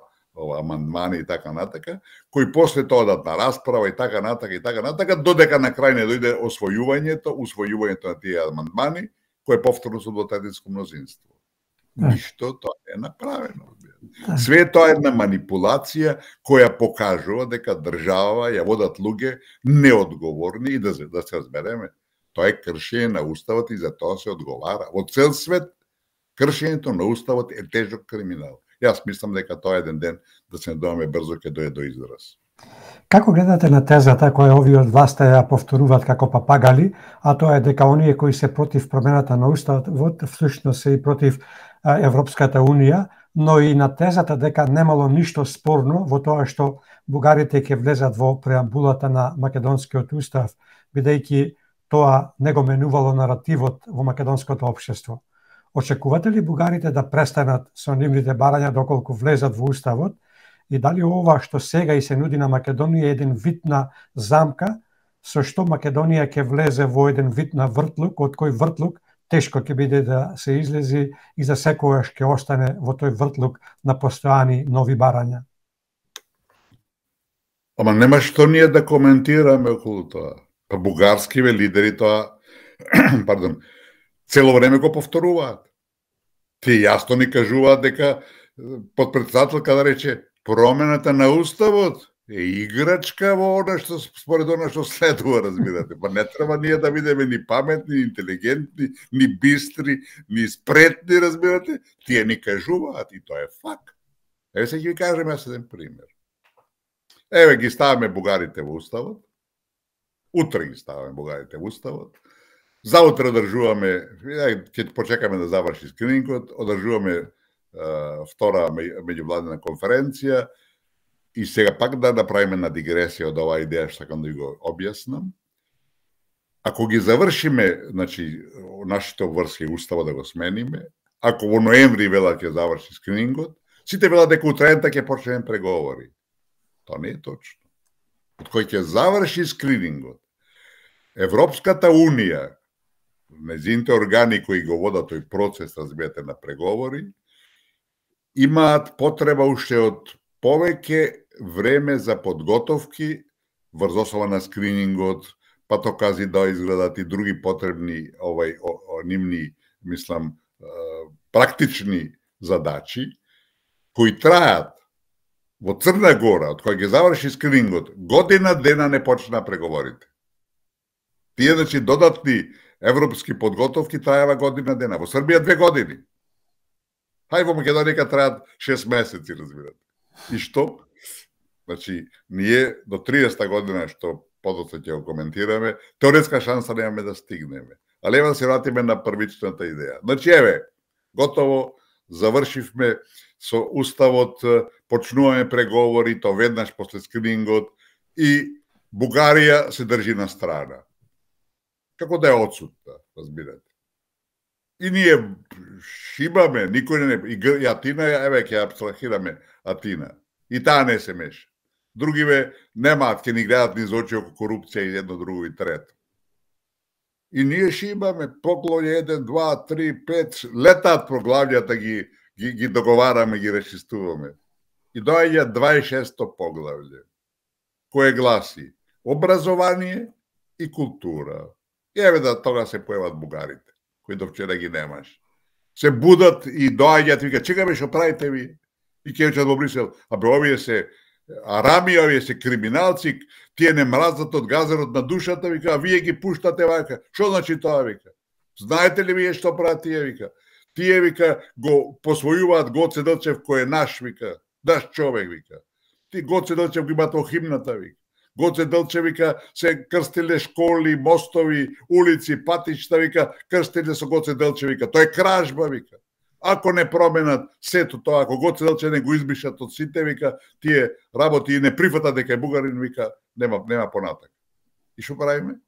амандмани и така натака, кои после тоа дадат на расправа и така натака, додека на крај не дојде усвојувањето на тие амандмани, кој е повторно со двотретинско мнозинство. Ништо тоа е направено. Све тоа е една манипулација која покажува дека држава ја водат луѓе неодговорни и да се разбереме. Тоа е кршење на уставот и за тоа се одговара. Во цел свет кршењето на уставот е тежок криминал. Јас мислам дека тоа еден ден да се надеваме брзо ќе дојде до израз. Како гледате на тезата која овие од власта ја повторуваат како папагали, а тоа е дека оние кои се против промената на уставот всушност се и против Европската унија, но и на тезата дека немало ништо спорно во тоа што бугарите ќе влезат во преамбулата на македонскиот устав, бидејќи тоа не го менувало наративот во македонското општество. Очекувате ли бугарите да престанат со нивните барања доколку влезат во уставот? И дали ова што сега и се нуди на Македонија е еден вид на замка, со што Македонија ќе влезе во еден вид на вртлук, од кој вртлук тешко ќе биде да се излези и за секогаш ќе остане во тој вртлук на постојани нови барања? Ама нема што ние да коментираме околу тоа. Па бугарскиве лидери тоа, пардон, цело време го повторуваат. Тие јасно ни кажуваат дека подпредседателка да рече промената на уставот е играчка во она што според она што следува, разбирате. Па не треба ние да бидеме ни паметни, ни интелигентни, ни бистри, ни спретни, разбирате. Тие ни кажуваат и тоа е факт. Еве се ќе ви кажем јас еден пример. Еве ги ставаме бугарите во уставот. Утре ги ставаме бугарите во уставот. Заутре одржуваме, ќе почекаме да заврши скринингот, одржуваме втора меѓувладина конференција и сега пак да направиме на дигресија од оваа идеја што сакам да ви го објаснам. Ако ги завршиме, значи, нашите обврски устава да го смениме, ако во ноември велат ќе заврши скринингот, сите велат дека утрената ќе почнеме преговори. Тоа не е точно. Од кој ќе заврши скринингот, Европската унија, нејзините органи кои го водат тој процес, разбирате, на преговори, имаат потреба уште од повеќе време за подготовки врз основа на скринингот, патокази да изгледат и други потребни нивни, мислам, практични задачи, кои траат во Црна Гора, од која ги заврши скринингот, година дена не почна преговорите. Тие, значи, додатни европски подготовки траева година дена. Во Србија 2 години. Хај во Македонија траат 6 месеци, разбирате. И што? Значи, ние до 30-та година, што подоцна ќе го коментираме, теоретска шанса немаме да стигнеме. Ali evo se vratime na prvičната идеја. Значи, еве, готово, завршивме со уставот, почнуваме преговори, то веднаш после скринингот и Бугарија се држи на страна. Како да е отсутна, разбирате. И ние шибаме, никој не... И Атина, еве, ќе абстрахираме Атина. И таа не се меша. Другиве немаат, ќе ни гледат низ очи око корупција и едно, друго и трето. И ние шибаме поглавје 1, 2, 3, 5, летаат поглавјата, ги договараме, ги речистуваме. И доаѓа 26-то поглавје, кое гласи образование и култура. И еве да тога се појават бугарите, кои до вчера ги немаш. Се будат и доаѓаат и вика, чекаме што правите ви? И ќе речат во Брисел, абе овие се арами, овие се криминалци, тие не мразат од газерот на душата, вика, а вие ги пуштате вака. Што значи тоа, вика? Знаете ли вие што прават тие, вика? Тие, вика, го посвојуваат Гоце Делчев кој е наш, вика, наш човек, вика. Ти Гоце Делчев го имат во химната, вика. Гоце Делчев, вика, се крстиле школи, мостови, улици, патишта, вика, крстиле со Гоце Делчев, вика. Тоа е кражба, вика. Ако не променат сето тоа, ако Гоце Делчев не го избишат од сите, вика, тие работи и не прифатат дека е бугарин, вика, нема понатак. И што правиме?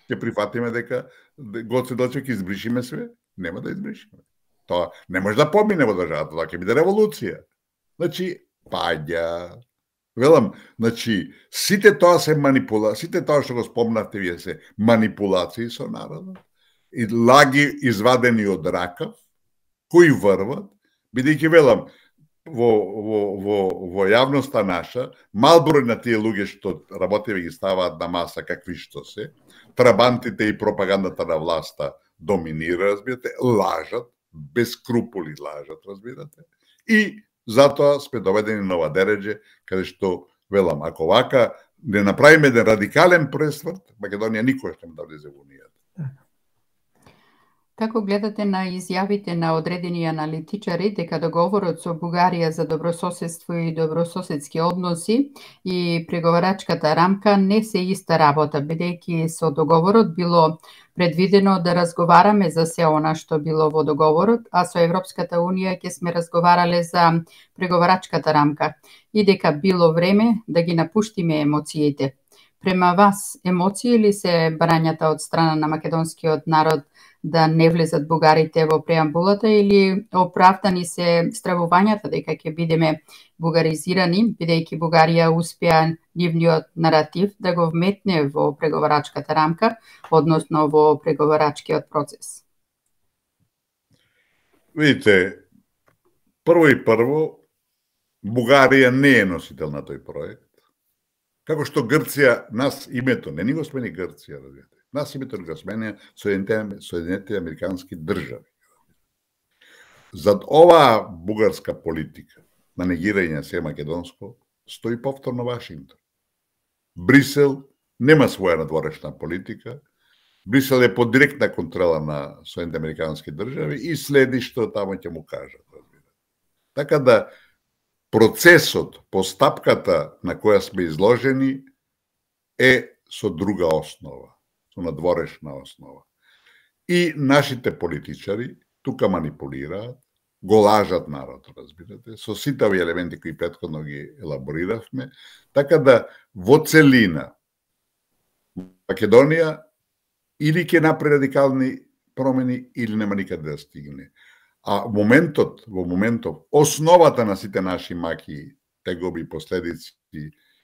Ќе прифатиме дека Гоце Делчев ќе избришиме све? Нема да избришиме. Тоа не може да помине во државата, тоа ќе биде револуција. Значи, паѓа. Велам, значи, сите тоа се сите тоа што го спомнавте вие се манипулации со народот и лаги извадени од ракав, кои врват, бидејќи велам, во јавноста наша, мал број на тие луѓе што работеве ги ставаат на маса какви што се, трабантите и пропагандата на власта доминира, разбирате, лажат, без скрупули лажат, разбирате, и затоа сме доведени на ова дереđe, каде што, велам, ако вака не направиме еден радикален пресврт, Македонија никош нема да влезе во Унијата. Како гледате на изјавите на одредени аналитичари дека договорот со Бугарија за добрососедство и добрососедски односи и преговарачката рамка не се иста работа, бидејќи со договорот било предвидено да разговараме за се она што било во договорот, а со Европската Унија ќе сме разговарале за преговарачката рамка и дека било време да ги напуштиме емоциите. Према вас, емоции ли се барањата од страна на македонскиот народ да не влезат бугарите во преамбулата или оправдани се стравувањата дека ќе бидеме бугаризирани, бидејќи Бугарија успеа нивниот наратив да го вметне во преговарачката рамка, односно во преговарачкиот процес? Видите, прво, Бугарија не е носител на тој проект. Како што Грција, нас името, не ни го смени Грција, разбирате. Нас името го смени Соединетите Американски држави. Зад оваа бугарска политика на негирање се македонско стои повторно Вашингтон. Брисел нема своја надворешна политика. Брисел е под директна контрола на Соединетите Американски држави и следи што таму ќе му кажат. Така да процесот, постапката на која сме изложени е со друга основа, со надворешна основа. И нашите политичари тука манипулираат, го лажат народ, разбирате, со сите овие елементи кои претходно ги елабориравме, така да во целина Македонија или ќе направи радикални промени или нема никаде да стигне. А во моментов, основата на сите наши маки, тегоби, последици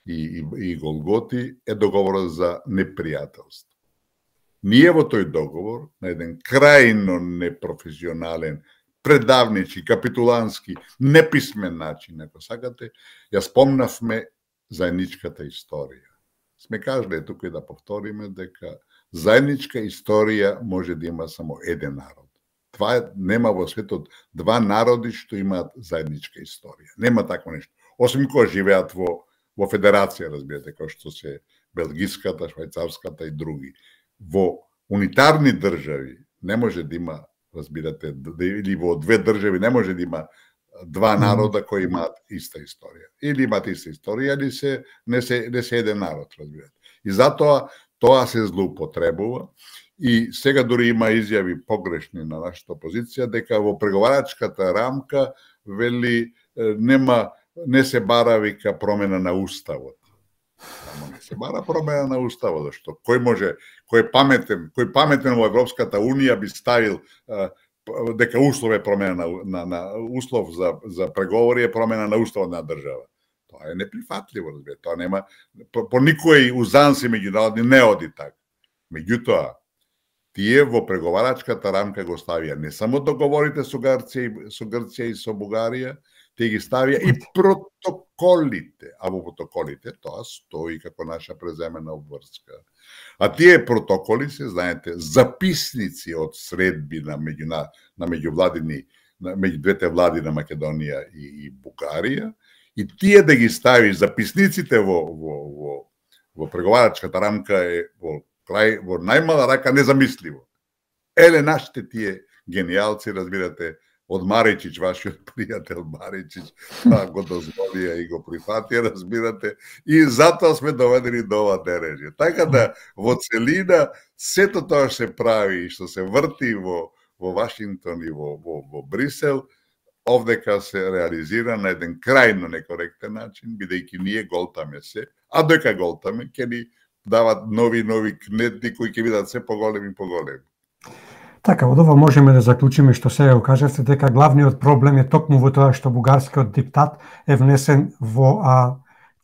и голготи е договорот за непријателство. Ние во тој договор, на еден крајно непрофесионален, предавничи, капитулански, неписмен начин, ако сакате, ја спомнавме заедничката историја. Сме кажале тука и да повториме дека заедничка историја може да има само еден народ. Това нема во светот два народи што имаат заедничка историја. Нема такво нешто. Освен кога живеат во федерација, разбирате, како што се белгиската, швајцарската и други. Во унитарни држави не може да има, разбирате, или во две држави не може да има два народа кои имаат иста историја. Или имаат иста историја, или не се еден народ, разбирате. И затоа тоа се злоупотребува. И сега дури има изјави погрешни на нашата опозиција дека во преговарачката рамка вели не се бара вика промена на уставот. Ама не се бара промена на уставот, зашто кој паметен во Европската Унија би ставил дека услов е промена на услов за преговори е промена на уставот на држава. Тоа е неприфатливо, разбирате. Тоа нема по никој узанси меѓународни не оди така. Меѓутоа, тие во преговарачката рамка го ставија не само договорите со Грција и со Бугарија, те ги ставија и протоколите, а во протоколите тоа стои како наша преземена обврска. А тие протоколи се, знаете, записници од средби на меѓувладини, меѓу двете влади на Македонија и Бугарија, и тие да ги стави записниците во преговарачката рамка е во најмала рака незамисливо. Еле нашите тие гениалци, разбирате, од Маричич, вашиот пријател Маричич, го дозволија и го прифатија, разбирате, и затоа сме доведени до ова дереđe. Така да, во целина, сето тоа што се прави и што се врти во Вашингтон и во Брисел, овдека се реализира на еден крајно некоректен начин, бидејќи ние голтаме се, а дека голтаме, ќе ни дават нови кнетни кои ќе бидат се поголеми и поголеми. Така, од ова можеме да заклучиме што сега го кажавте, дека главниот проблем е токму во тоа што бугарскиот диктат е внесен во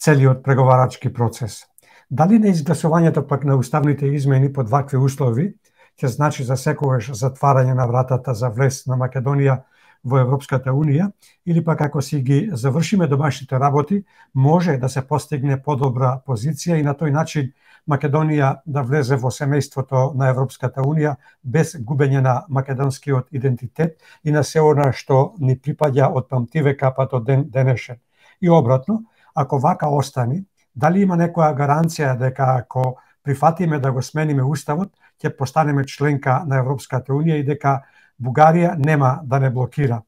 целиот преговарачки процес. Дали неизгласувањето пак на уставните измени под вакви услови ќе значи за секогаш затварање на вратата за влез на Македонија во Европската Унија, или пак ако си ги завршиме домашните работи, може да се постигне подобра позиција и на тој начин Македонија да влезе во семејството на Европската Унија без губење на македонскиот идентитет и на се она што ни припаѓа од памтивека па до ден денешен. И обратно, ако вака остани, дали има некоја гаранција дека ако прифатиме да го смениме уставот, ќе постанеме членка на Европската Унија и дека Бугарија нема да не блокира?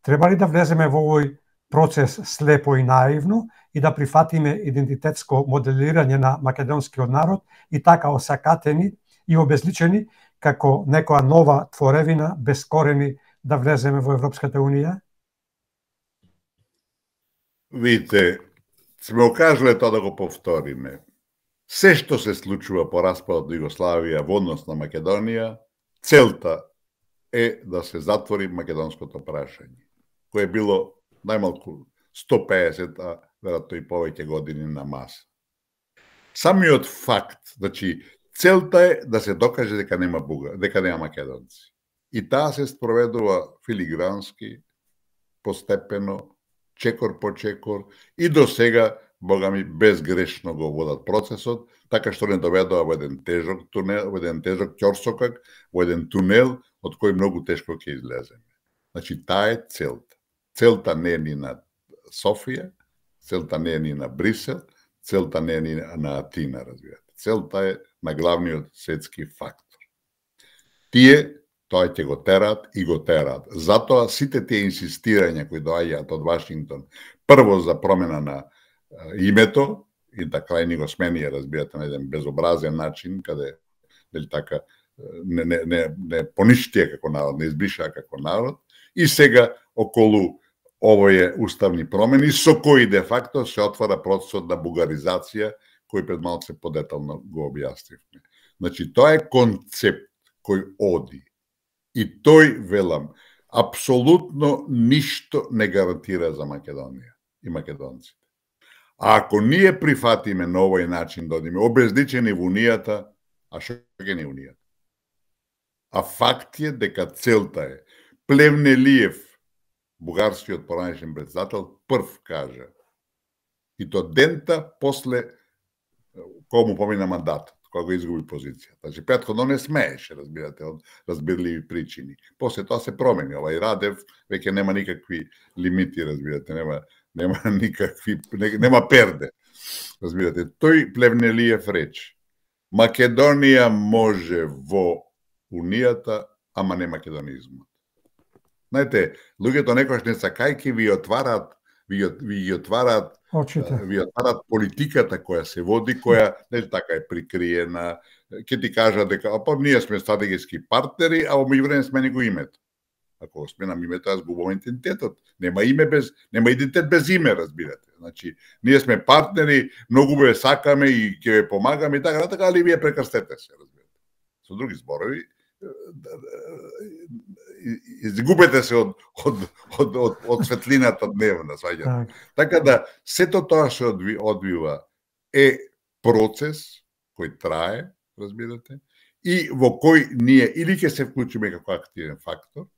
Треба ли да влеземе во овој процес слепо и наивно и да прифатиме идентитетско моделирање на македонскиот народ и така осакатени и обезличени како некоја нова творевина без корени да влеземе во Европската Унија? Видите, сме окажале тоа да го повториме. Се што се случува по распадот на Југославија во однос на Македонија, целта е да се затвори македонското прашање, кое е било најмалку 150, а веројатно и повеќе години на маса. Самиот факт, значи, целта е да се докаже дека нема дека нема македонци. И таа се спроведува филигрански, постепено, чекор по чекор, и до сега, богами, безгрешно го водат процесот, така што не доведува во еден тежок тунел, во еден тежок ќорсокак, во еден тунел од кој многу тешко ќе излеземе. Значи, таа е целта. Целта не е ни на Софија, целта не е ни на Брисел, целта не е ни на Атина, разбирате. Целта е на главниот светски фактор. Тие тоа ќе го тераат и го тераат. Затоа сите тие инсистирања кои доаѓаат од Вашингтон, прво за промена на името, и така и ни го сменија, разбирате, на еден безобразен начин, каде дали така не поништија како народ, не избришаа како народ, и сега околу овие уставни промени, со кои де факто се отвара процесот на бугаризација, кој пред малку подетално го објаснивме. Значи, тоа е концепт кој оди. И тој, велам, апсолутно ништо не гарантира за Македонија и македонците. А ако ние прифатиме на овој начин да одиме обезличени во Унијата, а што ќе ни Унијата? А факт е дека целта е. Плевнелиев, бугарскиот поранешен председател, прв кажа, и то дента после кога му помина мандатот, кога го изгуби позицијата. Значи, претходно не смееше, разбирате, од разбирливи причини. После тоа се промени. Овај Радев веќе нема никакви лимити, разбирате, нема никакви, нема перде. Разбирате, тој Плевнелиев рече: Македонија може во Унијата, ама не македонизмот. Знаете, луѓето некојаш не сакајки ви отварат политиката која се води, која не така е прикриена. Ќе ти кажа дека ние сме стратегиски партнери, а во меѓувреме смени го името. Ако го сменам името, аз губам идентитетот. Нема идентитет без име, разбирате. Значи, ние сме партнери, многу ве сакаме и ќе ве помагаме и така, али вие прекрстете се, разбирате. Со други зборови, изгубете се од светлината дневна, сваѓате. Така да, сето тоа што одвива е процес кој трае, разбирате, и во кој ние или ќе се вклучиме како активен фактор,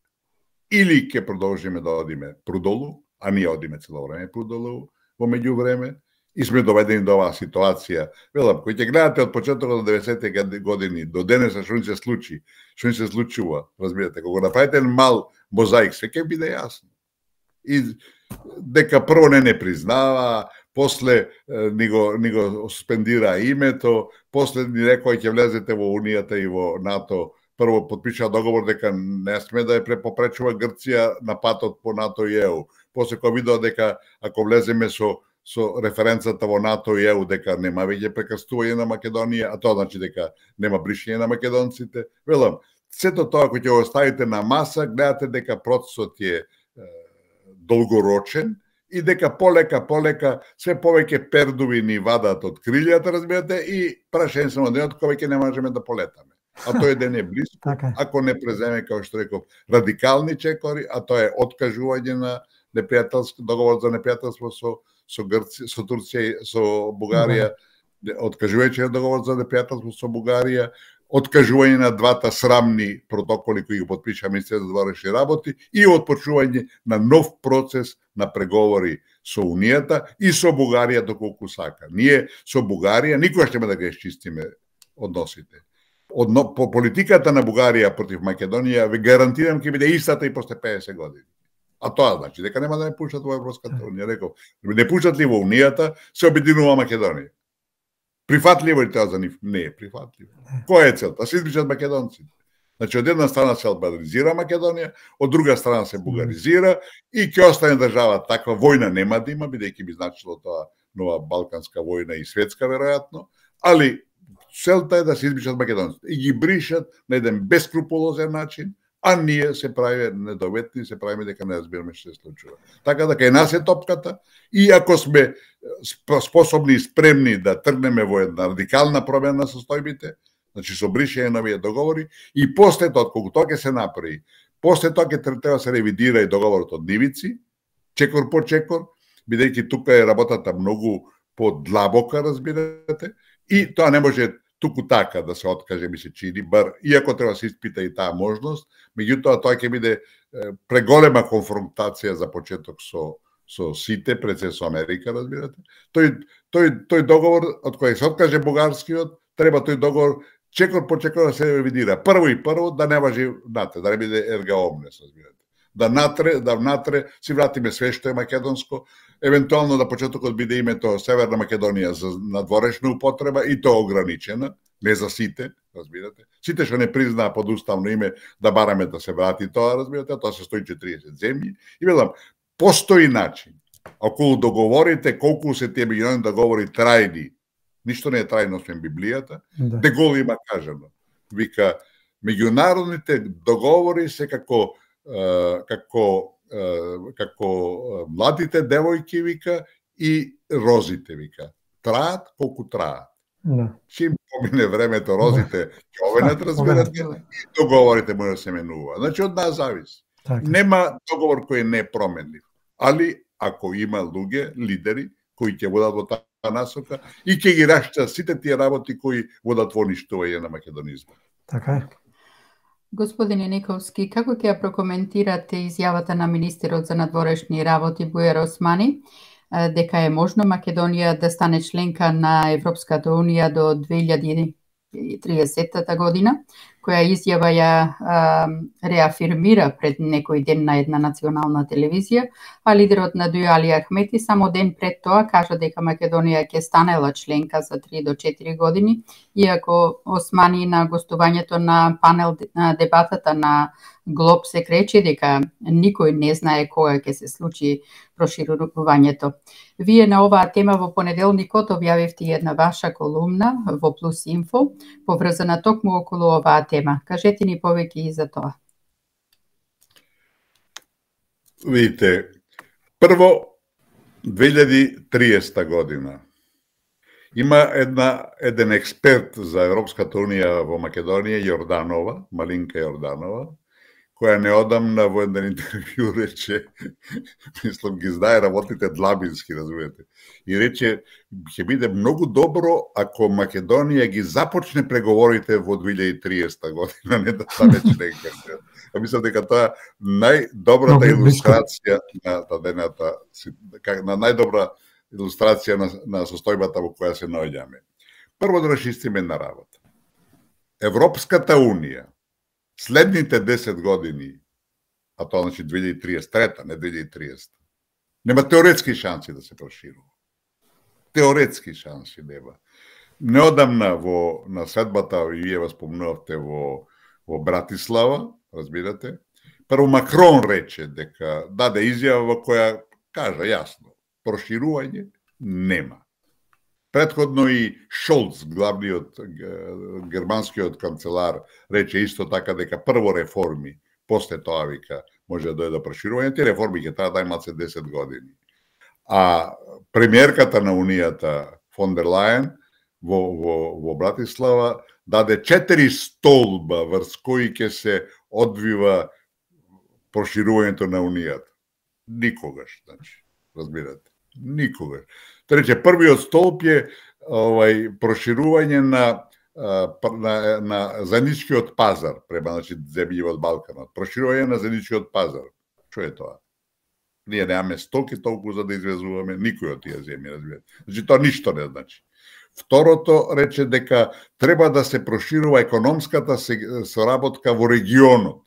или ќе продолжиме да одиме прудолу, а ние одиме цело време прудолу во меѓувреме, и сме доведени до оваа ситуација. Велам, кој ќе гледате од почетокот од 90-те години до денеса што ни се случи, што ни се случува, разбирате, кога направите мал мозаик, се ќе биде јасно. И дека прво не признава, после ни го суспендира името, после ни рекоа ќе влезете во Унијата и во НАТО, прво подпиша договор дека не сме да ја препопречува Грција на патот по НАТО и ЕУ. После кога видоа дека ако влеземе со референцата во НАТО и ЕУ дека нема веќе прекрстување на Македонија, а тоа значи дека нема бришење на македонците. Велам, сето тоа кој ќе го оставите на маса, гледате дека процесот е долгорочен и дека полека све повеќе пердуви ни вадат од крилјата, разбирате, и прашање само денот кога ќе не можеме да полетаме. А тој ден е близко, ако не преземе, како што реков, радикални чекори, а тоа е откажување на договор за непријателство со Грција, со Турција, со Бугарија, откажувајќи договор за непријателство со Бугарија, откажување на двата срамни протоколи кои го подпиша Министерството за вътрешни работи и отпочнување на нов процес на преговори со Унијата и со Бугарија доколку сака. Ние со Бугарија никогаш нема да ги изчистиме односите. По политиката на Бугарија против Македонија ви гарантирам ќе биде истата и после 50 години. А тоа значи дека нема да не пушат во Европската Унија. Реков, не пушат ли во Унијата, се обединува Македонија. Прифатливо е тоа за нив? Не е прифатливо. Која е целта? Се избичат македонците. Значи, од една страна се албанизира Македонија, од друга страна се бугаризира и ќе остане држава таква. Војна нема да има, бидејќи би значило тоа нова балканска војна и светска, веројатно, али целта е да се избичат македонците и ги бришат на еден бескрупулозен начин, а ние се правиме недоветни, се правиме дека не разбираме што се случува. Така да кај нас е топката и ако сме способни и спремни да тргнеме во една радикална промена на состојбите, значи со бришење на овие договори и после тоа, кога тоа ќе се направи, после тоа ќе треба да се ревидира и договорот од Нивици, чекор по чекор, бидејќи тука е работата многу подлабока, разбирате, и тоа не може туку така да се откаже, ми се чини, бар, иако треба да се испита и таа можност, меѓутоа тоа ќе биде преголема конфронтација за почеток со сите, пред се со Америка, разбирате. Тој договор, од кој се откаже бугарскиот, треба тој договор чекор по чекор да се ревидира. Прво да не важи нате, да не биде ерга омнес, разбирате. Да внатре си вратиме све што е македонско, евентуално да почетокот биде името Северна Македонија за надворешна употреба и тоа ограничена, не за сите, разбирате. Сите што не признаа под уставно име да бараме да се врати тоа, разбирате, тоа се 140 земји. И велам, постои начин. Ако договорите колку се тие меѓународни договори трајни, ништо не е трајно освен Библијата, Де Гол има кажано. Вика, меѓународните договори се како младите девојки, вика, и розите, вика. Траат колку траат. Чим помине времето, розите ќе овенат, разбирате, и договорите може да се менува. Значи, од нас зависи. Нема договор кој не е променлив. Али, ако има луѓе, лидери, кои ќе водат во таа насока и ќе ги раштат сите тие работи кои водат во уништување на македонизма. Така е. Господине Никовски, како ќе ја прокоментирате изјавата на министерот за надворешни работи Бујар Османи дека е можно Македонија да стане членка на Европската Унија до 2030 година, која изјава ја реафирмира пред некој ден на една национална телевизија, а лидерот на ДУ Али Ахмети само ден пред тоа кажа дека Македонија ќе станела членка за 3 до 4 години, иако Османи на гостувањето на панел дебатата на Глоб се кречи дека никој не знае кога ќе се случи проширувањето. Вие на оваа тема во понеделникот објавивте една ваша колумна во Плюс Инфо, поврзана токму околу оваа тема. Кажете ни повеќе и за тоа. Видите, прво 2030 година има еден експерт за Европската Унија во Македонија, Јорданова, Малинка Јорданова, која неодамна во еден интервју рече, мислам ги знае работите длабински, разбирате, и рече, ќе биде многу добро ако Македонија ги започне преговорите во 2030 година, не да стане членка. Мислам дека тоа најдобрата илустрација на дадената, на најдобра илустрација на состојбата во која се наоѓаме. Прво да расчистиме на работа. Европската Унија следните 10 години, а тоа значи 2033, не 2030, нема теоретски шанси да се проширува. Теоретски шанси нема. Неодамна на средбата, и вие спомнувавте во Братислава, разбирате, прво Макрон рече дека даде изјава во која кажа јасно, проширување нема. Предходно и Шолц, главниот германскиот канцелар, рече исто така дека прво реформи, после тоа вика може да дојде до проширување, тие реформи ќе треба да имаат се 10 години. А премиерката на Унијата фон дер Лајен во Братислава даде 4 столба врз кои ќе се одвива проширувањето на Унијата. Никогаш, значи, разбирате, никогаш. Рече, првиот столб е проширување на на заедничкиот пазар према, значи, земји од Балканот. Проширување на заедничкиот пазар. Што е тоа? Ние немаме стоки толку за да извезуваме никој од тие земји, разбирате. Значи, тоа ништо не значи. Второто рече дека треба да се проширува економската соработка во регионот.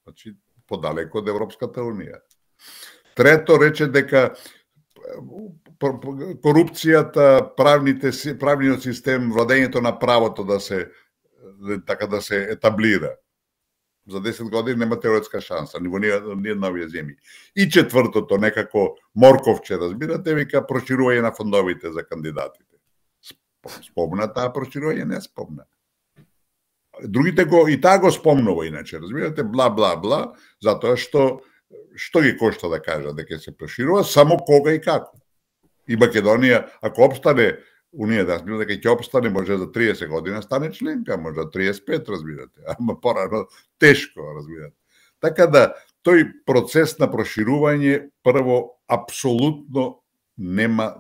Значи, подалеку од Европската Унија. Трето рече дека корупцијата, правниот систем, владењето на правото да се етаблира. За 10 години нема теоретска шанса, ни во ниедна овие земји. И четвртото, некако морковче, разбирате, вика проширување на фондовите за кандидатите. Спомна таа проширување, не спомна. Другите и таа го спомнува иначе, разбирате, бла, бла, бла, затоа што ги кошта да кажа дека се проширува, само кога и како. И Македонија, ако опстане, Унија да разбира дека ќе опстане, може за 30 година стане членка, може за 35, разбирате, ама порано тешко, разбирате. Така да, тој процес на проширување прво апсолутно нема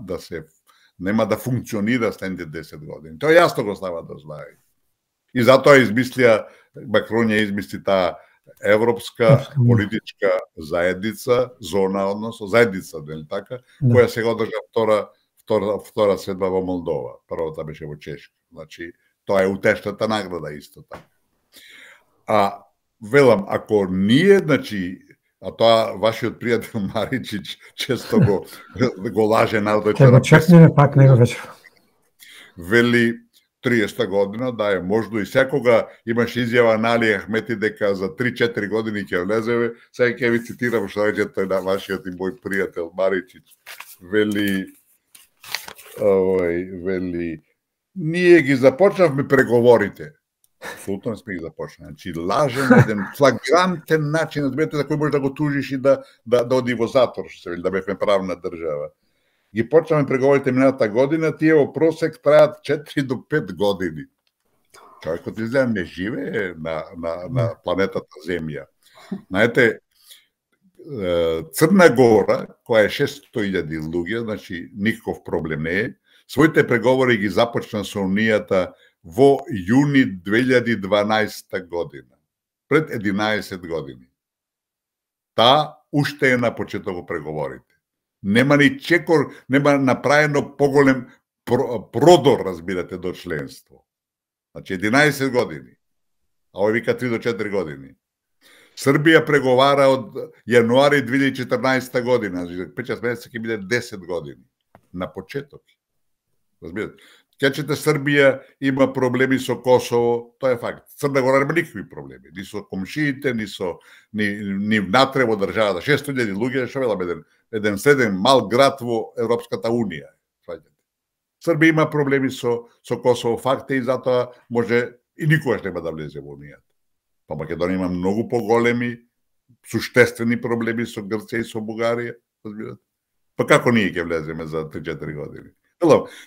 да функционира следните 10 години. Тоа јасно го става да знае. И затоа Макрон ја измисли таа европска политичка заедница, зона, односно заедница, нели така, која сега одржа втора седба во Молдова. Првата беше во Чешка. Значи, тоа е утешната награда исто така. Велам, ако ние, значи, а тоа вашиот пријател Маричич често го лаже народот. Ќе го чекнеме пак него вечер. Вели 30 година, да е можно и секога имаше изјава на Али Ахмети дека за 3-4 години ќе влеземе. Сега ќе ви цитирам што рече тој на вашиот и мој пријател Маричич. Вели, ние ги започнавме преговорите. Абсолютно не сме ги започнали. Значи, лаже на еден флагрантен начин, разбирате, за кој може да го тужиш и да оди во затвор, што се вели, да бевме правна држава. Ги почнавме преговорите миналата година, тие во просек траат 4 до 5 години. Човекот изгледа не живее на планетата Земја. Знаете, Црна Гора, која е 600.000 луѓе, значи никаков проблем не е, своите преговори ги започна со Унијата во јуни 2012 година, пред 11 години. Таа уште е на почеток преговорите. Нема ни чекор, нема направено поголем продор, разбирате, до членство. Значи 11 години, а овој вика 3 до 4 години. Србија преговара од јануари 2014 година, значи 5-6 месеца ќе биде 10 години. На почеток. Разбирате? Кечете Србија има проблеми со Косово, тоа е факт. Црна Гора нема никакви проблеми, ни со комшиите, ни внатре во државата. 600.000 луѓе, што велам, еден среден мал град во Европската Унија. Србија има проблеми со Косово, факт е, и затоа може и никогаш нема да влезе во Унијата. Па Македонија има многу поголеми, суштествени проблеми со Грција и со Бугарија, разбирате. Па како ние ќе влеземе за 3-4 години?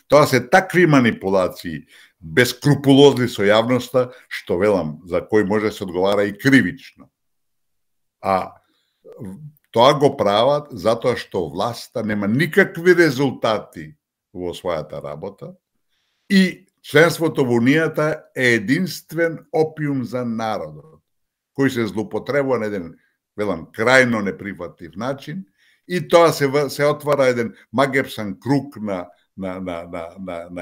Тоа се такви манипулации, бескрупулозни со јавноста, што велам, за кој може да се одговара и кривично. А тоа го прават затоа што власта нема никакви резултати во својата работа и членството во Унијата е единствен опиум за народот, кој се злоупотребува на еден, велам, крајно неприфатлив начин, и тоа се отвара еден магепсан круг на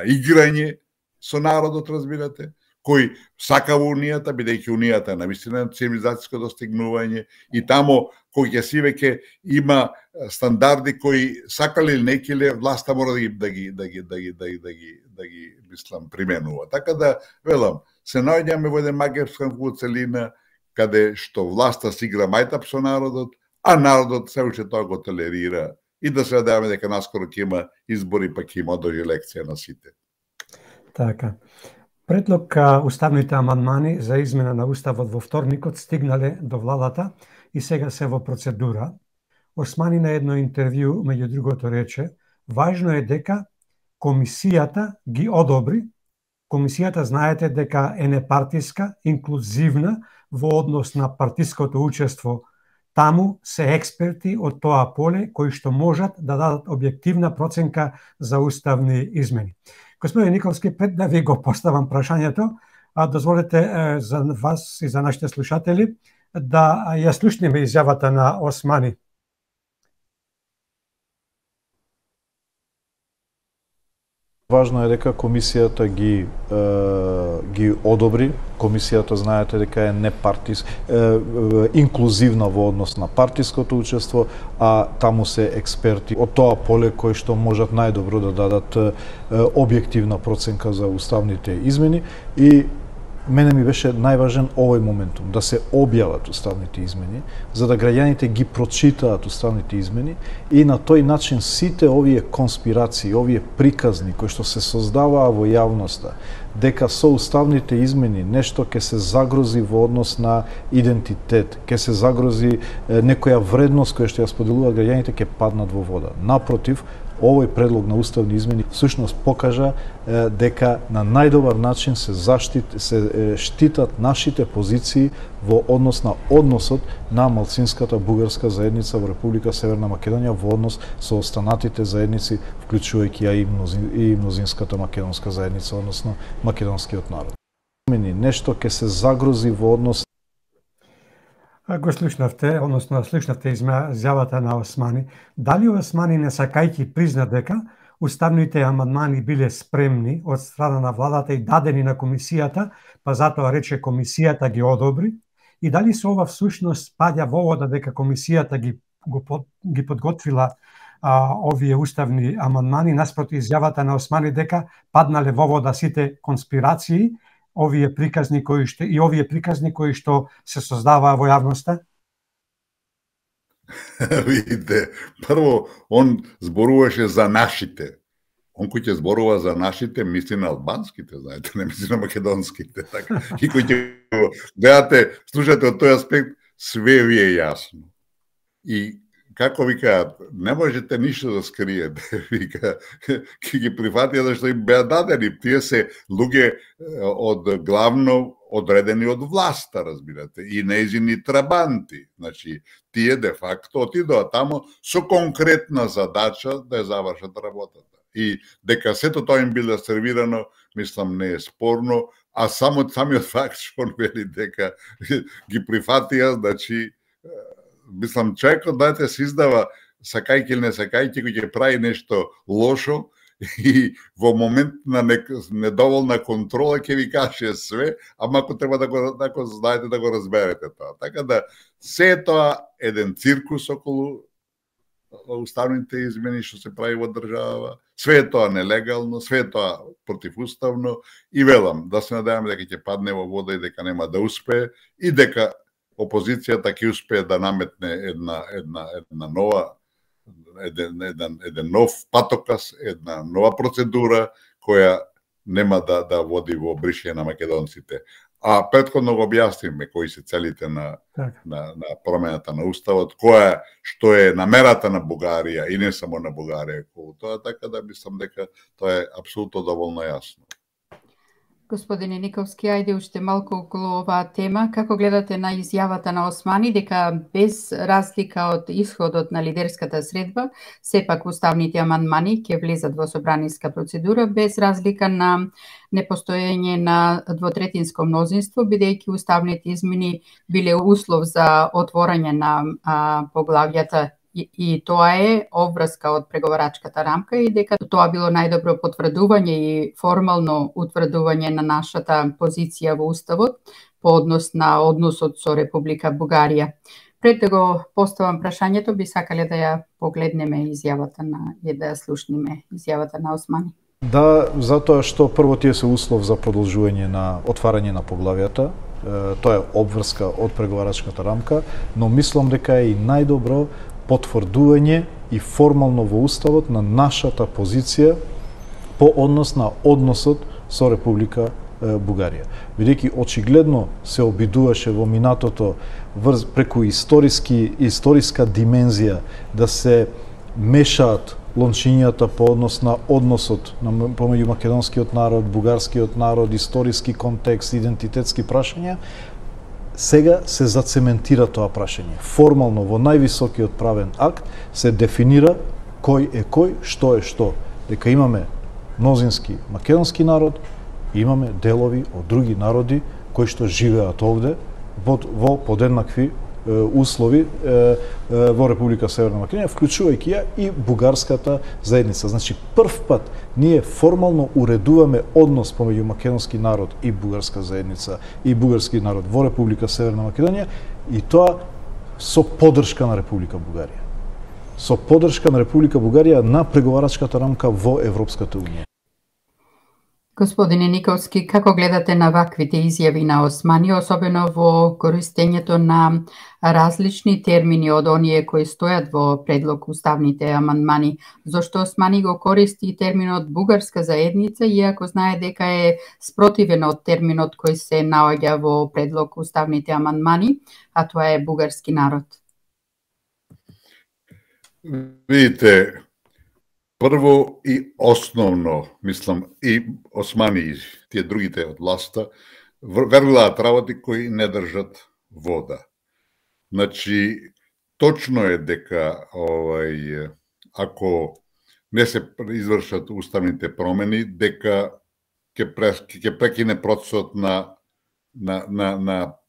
играње со народот, разбирате, кој сака во Унијата, бидејќи Унијата е навистина цивилизацијско достигнување, и тамо кој ќе си веќе има стандарди кои сакале или некиле, власта мора да ги мислам применува. Така да, велам, се наоѓаме во еден магепскан целина, каде што власта си игра мајтап со народот, а народот се уште тоа го толерира, и да се надеваме дека наскоро ќе има избори, па ќе има дојде лекција на сите. Така. Предлог уставните амандмани за измена на уставот во вторникот стигнале до владата и сега се во процедура. Османи на едно интервју, меѓу другото, рече: важно е дека комисијата ги одобри. Комисијата, знаете дека е непартиска, инклузивна во однос на партиското учество. Таму се експерти од тоа поле кои што можат да дадат објективна проценка за уставни измени. Господин Николски, пред да ви го поставам прашањето, дозволете за вас и за нашите слушатели да ја слушнеме изјавата на Османи. Важно е дека комисијата ги одобри. Комисијата, знаете дека е инклузивна во однос на партиското учество, а таму се експерти од тоа поле кои што можат најдобро да дадат објективна проценка за уставните измени. И мене ми беше најважен овој моментум, да се објават уставните измени, за да граѓаните ги прочитаат уставните измени и на тој начин сите овие конспирации, овие приказни кои што се создаваа во јавноста, дека со уставните измени нешто ќе се загрози во однос на идентитет, ќе се загрози некоја вредност која што ја споделуваат граѓаните, ќе паднат во вода. Напротив, овој предлог на уставни измени всушност покажа дека на најдобар начин се штитат нашите позиции во однос на односот на малцинската бугарска заедница во Република Северна Македонија во однос со останатите заедници, вклучувајќи и мнозинската македонска заедница, односно македонскиот народ. Нешто ќе се загрози во однос. Го слушнавте, односно слушнавте изјавата на Османи. Дали Османи не сакајќи призна дека уставните амандмани биле спремни од страна на владата и дадени на комисијата, па затоа рече комисијата ги одобри? И дали со ова всушност паѓа во вода дека комисијата ги подготвила овие уставни амандмани, наспроти изјавата на Османи дека паднале во вода сите конспирации, овие приказни кои што се создаваа во јавноста? Видите, прво, он зборуваше за нашите. Он кој ќе зборува за нашите, мисли на албанските, знаете, не мисли на македонските. Така. И кој ќе гледате, слушате од тој аспект, све ви е јасно. И како ви кажат, не можете ништо да скриете, вика, ќе ги прифатија зашто им беа дадени. Тие се луѓе од главно одредени од власта, разбирате, и нејзини трабанти. Значи, тие де факто отидоа тамо со конкретна задача да ја завршат работата. И дека сето тоа им било сервирано, мислам, не е спорно, а само самиот факт што он вели дека ги прифатија, значи, мислам, човекот дайте се издава сакајќи или не сакајќи, кој ќе прави нешто лошо и во момент на недоволна контрола ќе ви каже све, ама ако треба да го знаете, да го разберете тоа. Така да, се тоа еден циркус околу уставните измени што се прави во држава, све е тоа нелегално, све е тоа противуставно и велам, да се надеваме дека ќе падне во вода и дека нема да успее и дека опозицијата ќе успее да наметне еден нов патокас, една нова процедура која нема да води во бришење на македонците. А претходно го објасниме кои се целите на промената на уставот, што е намерата на Бугарија и не само на Бугарија околу тоа, така да мислам дека тоа е апсолутно доволно јасно. Господине Николски, ајде уште малку околу оваа тема. Како гледате на изјавата на Османи дека без разлика од исходот на лидерската средба, сепак уставните амандмани ќе влезат во собраниска процедура без разлика на непостоење на двотретинско мнозинство, бидејќи уставните измени биле услов за отворање на поглавјата и тоа е обврска од преговарачката рамка и дека тоа било најдобро потврдување и формално утврдување на нашата позиција во Уставот по однос на односот со Република Бугарија. Пред да го поставам прашањето, би сакале да ја погледнеме изјавата да ја слушнеме изјавата на Османи. Да, затоа што прво тие се услов за продолжување на отварање на поглавјата, тоа е обврска од преговарачката рамка, но мислам дека е и најдобро потврдување и формално во Уставот на нашата позиција по однос на односот со Република Бугарија. Бидејќи очигледно се обидуваше во минатото преку историска димензија да се мешаат лончињата по однос на односот помеѓу македонскиот народ, бугарскиот народ, историски контекст, идентитетски прашања, сега се зацементира тоа прашање. Формално во највисокиот правен акт се дефинира кој е кој, што е што. Дека имаме мнозински македонски народ, имаме делови од други народи кои што живеат овде во подеднакви услови во Република Северна Македонија, вклучувајќи ја и бугарската заедница. Значи, прв пат ние формално уредуваме однос помеѓу македонски народ и бугарска заедница и бугарски народ во Република Северна Македонија, и тоа со поддршка на Република Бугарија. Со поддршка на Република Бугарија на преговарачката рамка во Европската унија. Господине Николски, како гледате на ваквите изјави на Османи, особено во користењето на различни термини од оние кои стојат во предлог уставните амандмани? Зошто Османи го користи терминот бугарска заедница, иако знае дека е спротивен од терминот кој се наоѓа во предлог уставните амандмани, а тоа е бугарски народ? Видите, прво и основно, мислам, и Османи и тие другите од власта веруваат работи кои не држат вода. Значи, точно е дека ако не се извршат уставните промени, дека ќе прекине процесот на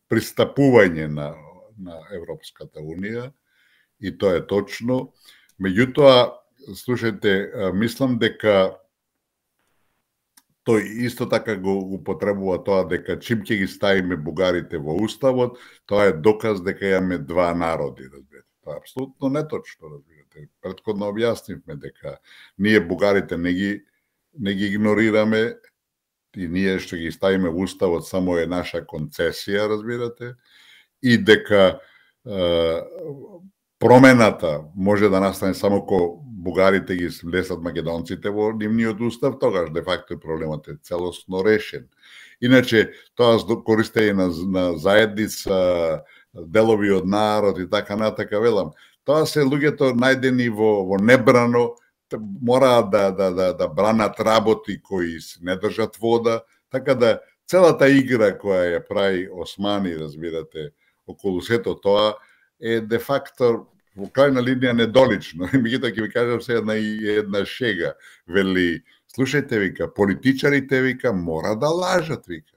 пристапување на Европската унија, и тоа е точно. Меѓутоа, слушајте, мислам дека тој исто така го потребува тоа дека чим ќе ги ставиме бугарите во уставот, тоа е доказ дека имаме два народи, разбирате. Тоа е апсолутно неточно, разбирате. Претходно објаснивме дека ние бугарите не ги игнорираме, и ние што ги ставиме во уставот само е наша концесија, разбирате, и дека промената може да настане само кога бугарите ги влесат македонците во нивниот устав, тогаш де факто проблемот е целосно решен. Иначе, тоа користење на заедница, делови од народ и така натака, велам, тоа се луѓето најдени во небрано, мораат да бранат работи кои не држат вода, така да целата игра која ја прави Османи, разбирате, околу сето тоа, е де факто во крајна линија недолично. Меѓутоа ќе ви кажам се една шега. Вели, слушајте, вика, политичарите, вика, мора да лажат, вика.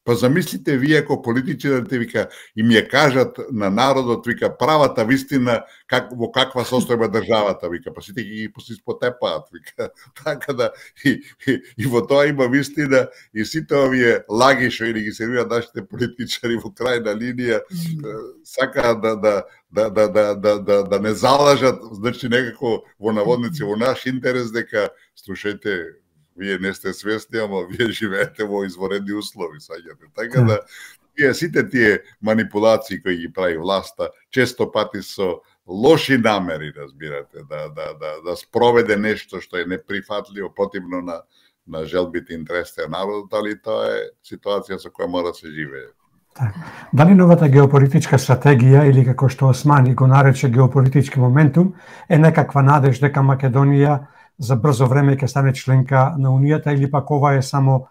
Па замислите вие ако политичарите, вика, им ја кажат на народот, вика, правата вистина во каква состојба државата, вика, па сите ги испотепаат, вика. Така да и во тоа има вистина, и сите овие лаги што ги сервираат нашите политичари во крајна линија сакаат да не залажат, значи некако во наводници во наш интерес дека слушајте, вие не сте свесни, ама вие живеете во изворедни услови, саѓате. Така да сите тие манипулации кои ги прави власта, често пати со лоши намери, разбирате, да спроведе нешто што е неприфатливо, противно на желбите и интересите на народот, али тоа е ситуација со која мора да се живее. Дали новата геополитичка стратегија, или како што Османи го нарече геополитички моментум, е некаква надеж дека Македонија за брзо време ќе стане членка на Унијата, или пак ова е само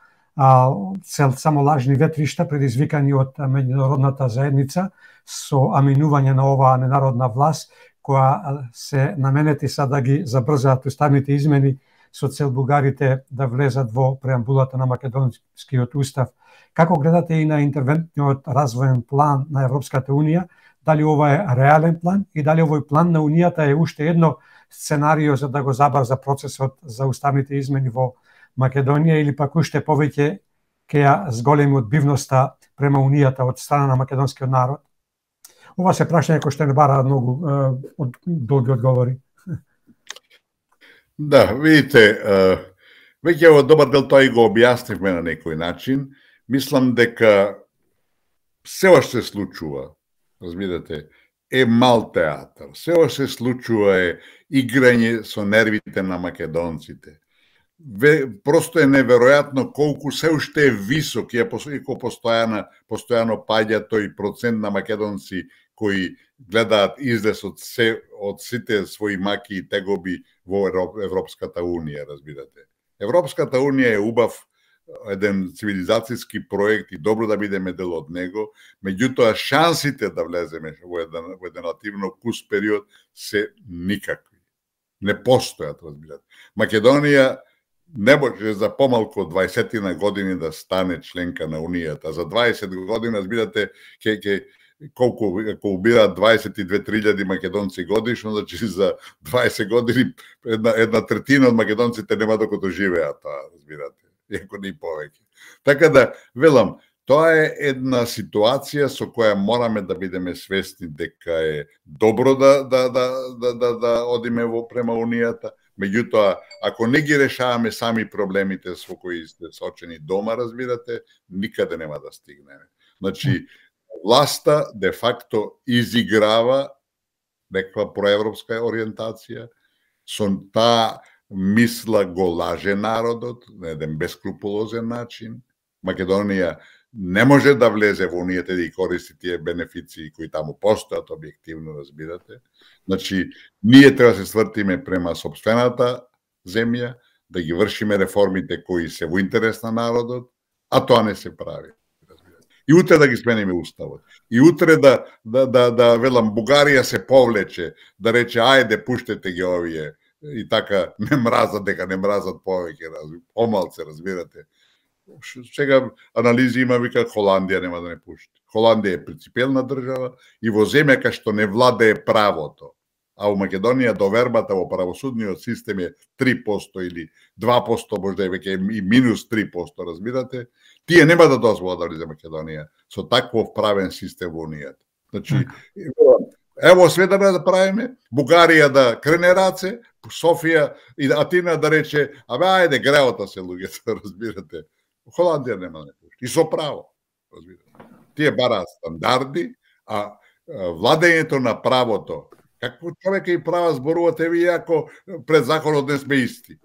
лажни ветришта предизвикани од меѓународната заедница со аминување на оваа ненародна власт која се наменети са да ги забрзаат уставните измени со цел бугарите да влезат во преамбулата на македонскиот устав. Како гледате и на интервентниот развоен план на Европската унија? Дали ова е реален план и дали овој план на Унијата е уште едно сценарио за да го забрза процесот за уставните измени во Македонија, или пак уште повеќе ќе ја зголеми одбивноста према Унијата од страна на македонскиот народ? Ова се прашање кој што не бара многу долги одговори. Да, видите, веќе во добар дел тоа и го објаснивме на некој начин. Мислам дека се уште се случува, разбирате, е мал театар. Се уште се случува е играње со нервите на македонците. Просто е неверојатно колку се уште е висок, иако постојано паѓа тој процент на македонци кои гледаат излез од сите своји маки и тегоби во Европската унија, разбирате. Европската унија е убав еден цивилизацијски проект и добро да бидеме дел од него, меѓутоа шансите да влеземе во еден релативно кус период се никакви. Не постојат, разбирате. Македонија не може за помалку од 20 години да стане членка на Унијата. За 20 години, разбирате, колку, ако убираат 22-3 македонци годишно, значи за 20 години една третина од македонците нема докато живеат, разбирате, иако не повеќе. Така да, велам, тоа е една ситуација со која мораме да бидеме свесни дека е добро да одиме према Унијата. Меѓутоа, ако не ги решаваме сами проблемите со кои сте сочени дома, разбирате, никаде нема да стигнеме. Значи, власта де факто изиграва некаква проевропска ориентација, со таа мисла го лаже народот на еден бескрупулозен начин. Македонија не може да влезе во Унијата и да користи тие бенефиции кои таму постојат, објективно, разбирате. Значи, ние треба да се свртиме према сопствената земја, да ги вршиме реформите кои се во интерес на народот, а тоа не се прави. И утре да ги смениме уставот. И утре да велам, Бугарија се повлече, да рече, ајде, пуштете ги овие, и така не мразат, дека не мразат повеќе, помалце, разбирате. Сега анализи има, вика, Холандија нема да не пушти. Холандија е принципиелна држава и во земја кај што не владее правото. А во Македонија довербата во правосудниот систем е 3% или 2%, можда е веќе и минус 3%, разбирате. Тие нема да дозволат да влезе Македонија со таков правен систем во Унијата. Значи, ево све да правиме, Бугарија да крене раце, Софија и Атина да рече, абе, ајде, греота се луѓето, разбирате. Холандија нема да не пушти. И со право, разбирате. Тие бараат стандарди, а владењето на правото, какво човека и права зборувате вие ако пред законот не сме исти?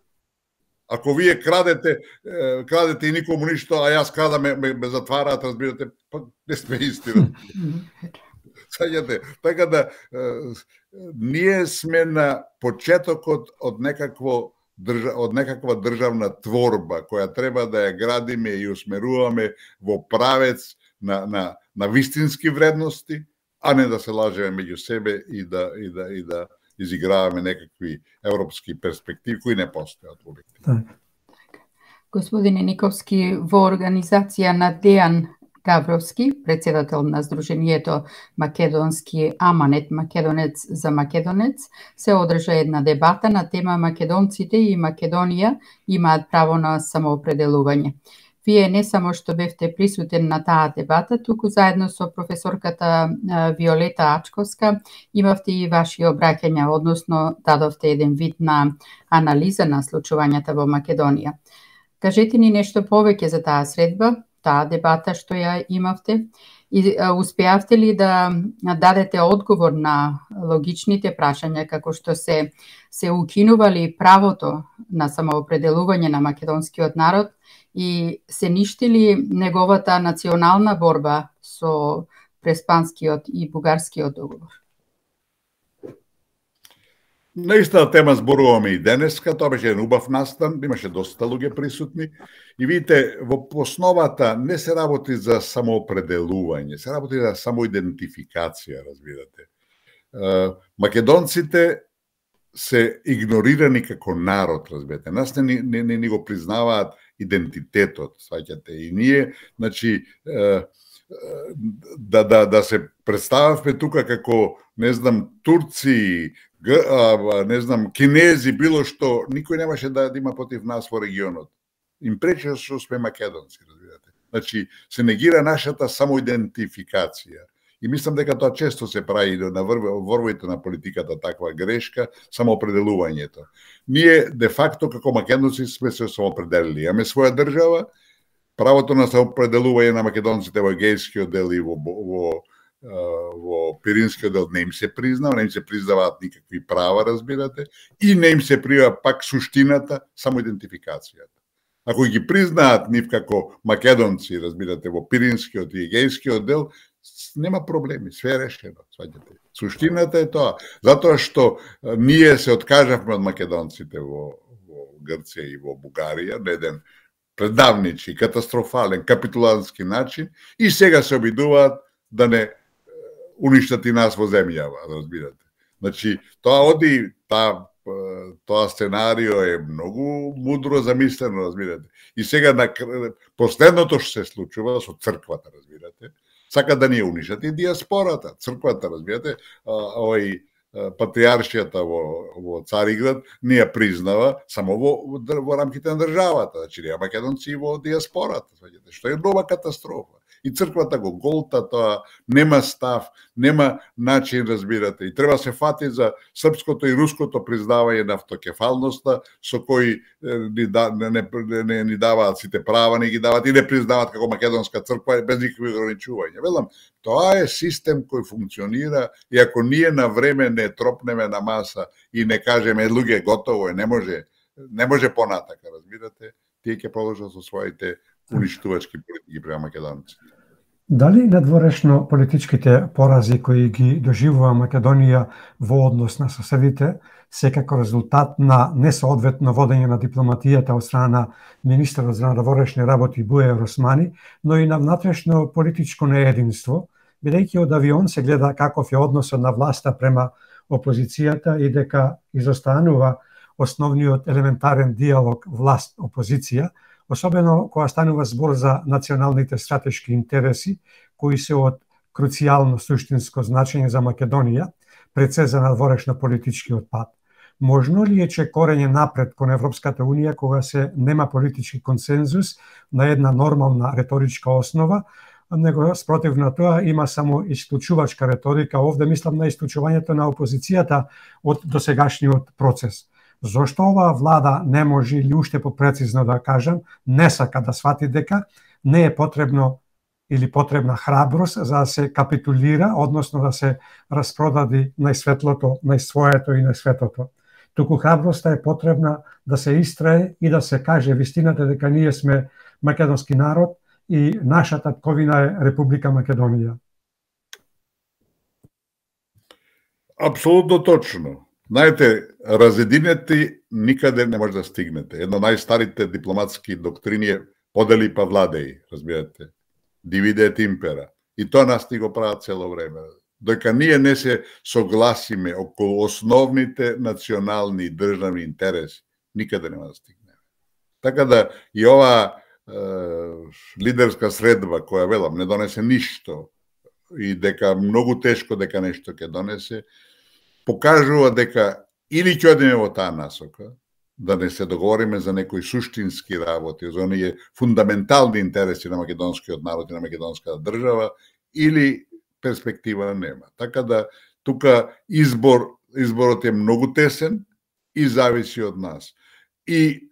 Ако вие крадете и никому ништо, а јас крадам, ме затвараат, разбирате, па не сме исти. Така да, ние сме на почетокот од некаква државна творба, која треба да ја градиме и усмеруваме во правец на вистински вредности, а не да се лажеме меѓу себе и да изиграваме некакви европски перспективи кои не постојат објективно. Господине Никовски, во организација на Дејан Гавровски, председател на Сдруженијето Македонски Аманет Македонец за Македонец, се одржа една дебата на тема Македонците и Македонија имаат право на самоопределување. Вие не само што бевте присутен на таа дебата, туку заедно со професорката Виолета Ачковска имавте и ваши обраќања, односно дадовте еден вид на анализа на случувањата во Македонија. Кажете ни нешто повеќе за таа средба, таа дебата што ја имавте, и успеавте ли да дадете одговор на логичните прашања како што се укинували правото на самоопределување на македонскиот народ и се ништи ли неговата национална борба со преспанскиот и бугарскиот договор? На истата тема зборуваме и денеска, тоа беше еден убав настан, имаше доста луѓе присутни и видите, во основата не се работи за самоопределување, се работи за самоидентификација, разбирате. Македонците се игнорирани како народ, разбирате. Нас не го признаваат идентитетот, сваќате. И ние, значи, да се представавме тука како, не знам, турци, не знам, кинези, било што, никој немаше да има против нас во регионот. Им пречи што сме македонци, разбирате. Значи, се негира нашата самоидентификација. И мислам дека тоа често се прави на ворвоите на политиката таква грешка, самоопределувањето. Ние, де факто, како македонци сме се самоопределили. Имаме своја држава, правото на самоопределување на македонците во Егејскиот дел и во Пиринскиот дел не им се признава, не им се признаваат никакви права, разбирате, и не им се признава пак суштината, самоидентификацијата. Ако ги признаат нив како македонци, разбирате, во Пиринскиот и Егејскиот дел, нема проблеми, све е решено, сваќате. Суштината е тоа, затоа што ние се откажавме од македонците во Грција и во Бугарија на еден предавничи, катастрофален, капитулантски начин и сега се обидуваат да не уништат и нас во земјава, разбирате. Значи, тоа оди, тоа сценарио е многу мудро замислено, разбирате. И сега на последното што се случува со црквата, разбирате, сака да ни унишат и диаспората, црквата, разбирате, овој патриаршијата во Цариград не ја признава само во рамките на државата, значи не македонци во диаспората, што е нова катастрофа. И црквата го голта тоа, нема став, нема начин, разбирате. И треба се фати за српското и руското признавање на автокефалноста, со кои не ни даваат сите права, не ги даваат и не признаваат како македонска црква без никакви ограничувања. Велам, тоа е систем кој функционира и ако ние на време не тропнеме на маса и не кажеме луѓе готово е, не може понатака, разбирате, тие ќе продолжат со своите уништувачки политики према македонците. Дали надворешно политичките порази кои ги доживува Македонија во однос на соседите се како резултат на несоодветно водење на дипломатијата од страна на министерот за надворешни работи Бујар Османи, но и на внатрешно политичко неединство, бидејќи од авион се гледа каков е односот на власта према опозицијата и дека изостанува основниот елементарен диалог власт-опозиција, особено кога станува збор за националните стратешки интереси, кои се од круцијално суштинско значење за Македонија, пред се за надворешно политичкиот пат. Можно ли е че корење напред кон Европската Унија кога се нема политички консензус на една нормална реторичка основа, него спротив на тоа има само исклучувачка реторика, овде мислам на исклучувањето на опозицијата од досегашниот процес. Зошто оваа влада не може, или уште попрецизно да кажам, не сака да свати дека не е потребно или потребна храброст за да се капитулира, односно да се распродади најсветлото, најсвоето и најсветото. Туку храброста е потребна да се истрае и да се каже вистината дека ние сме македонски народ и нашата татковина е Република Македонија. Апсолутно точно. Знаете, разединети никаде не може да стигнете. Една од најстарите дипломатски доктрини е подели па владеј, разбирате. Дивиде ет импера. И тоа нас ни го прават цело време. Доека ние не се согласиме околу основните национални и државни интереси, никаде нема да стигнеме. Така да и ова лидерска средба која, велам, не донесе ништо и дека многу тешко дека нешто ќе донесе, покажува дека или ќе одиме во таа насока, да не се договориме за некои суштински работи, за оние фундаментални интереси на македонскиот народ и на македонската држава, или перспектива нема. Така да, тука изборот е многу тесен и зависи од нас. И,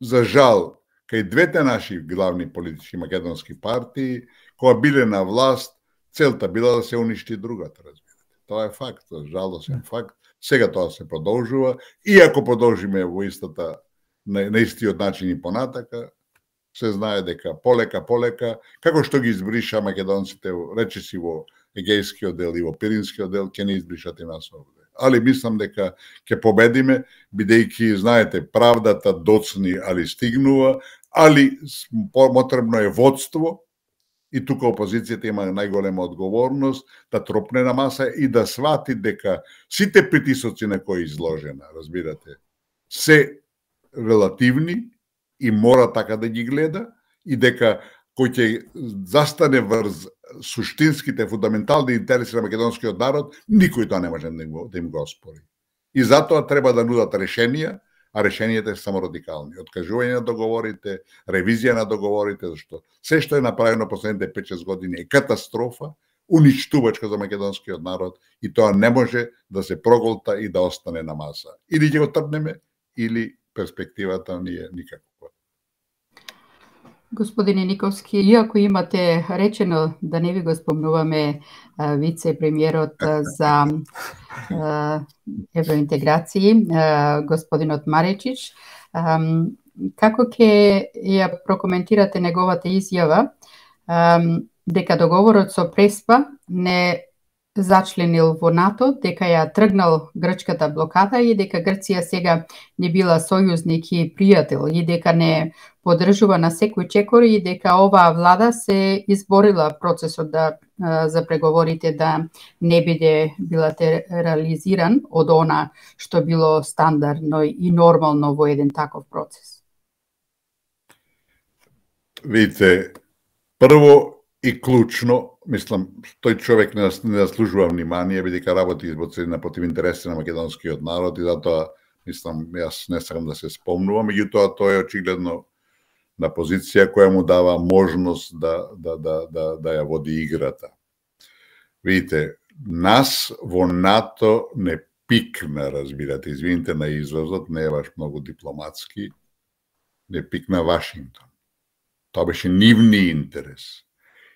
за жал, кај двете наши главни политички македонски партии, кога биле на власт, целта била да се уништи другата, разбирате. Тоа е факт, жалосен факт. Сега тоа се продолжува. И ако продолжиме во на истиот начин и понатака, се знае дека полека, како што ги избриша македонците, речиси во Егејскиот дел и во Пиринскиот дел, ќе не избришат и нас овде. Али мислам дека ќе победиме, бидејќи, знаете, правдата доцни, али стигнува, али потребно е водство, и тука опозицијата има најголема одговорност да тропне на маса и да свати дека сите притисоци на кои изложена, разбирате, се релативни и мора така да ги гледа и дека кој ќе застане врз суштинските фундаментални интереси на македонскиот народ, никој тоа не може да им го оспори. И затоа треба да нудат решенија, а решенијата се само радикални. Откажување на договорите, ревизија на договорите, зашто се што е направено последните 5-6 години е катастрофа, уништувачка за македонскиот народ и тоа не може да се проголта и да остане на маса. Или ќе го трпнеме, или перспективата ни е никаква. Господине Никовски, иако имате речено да не ви го спомнуваме вице-премиерот за евроинтеграции, господинот Маречич, како ќе ја прокоментирате неговата изјава дека договорот со Преспа не зачленил во НАТО, дека ја тргнал грчката блокада и дека Грција сега не била сојузник и пријател и дека не поддржува на секој чекор и дека оваа влада се изборила процесот за преговорите да не биде билатерализиран од она што било стандардно и нормално во еден таков процес. Видите, прво и клучно, мислам, тој човек не заслужува внимание, бидејќи работи на против интереси на македонскиот народ и затоа, мислам, јас не сакам да се спомнувам, меѓутоа тој е очигледно на позиција која му дава можност да ја води играта. Видите, нас во НАТО не пикна, разбирате, извините на изразот, не е баш многу дипломатски, не пикна Вашингтон. Тоа беше нивни интерес.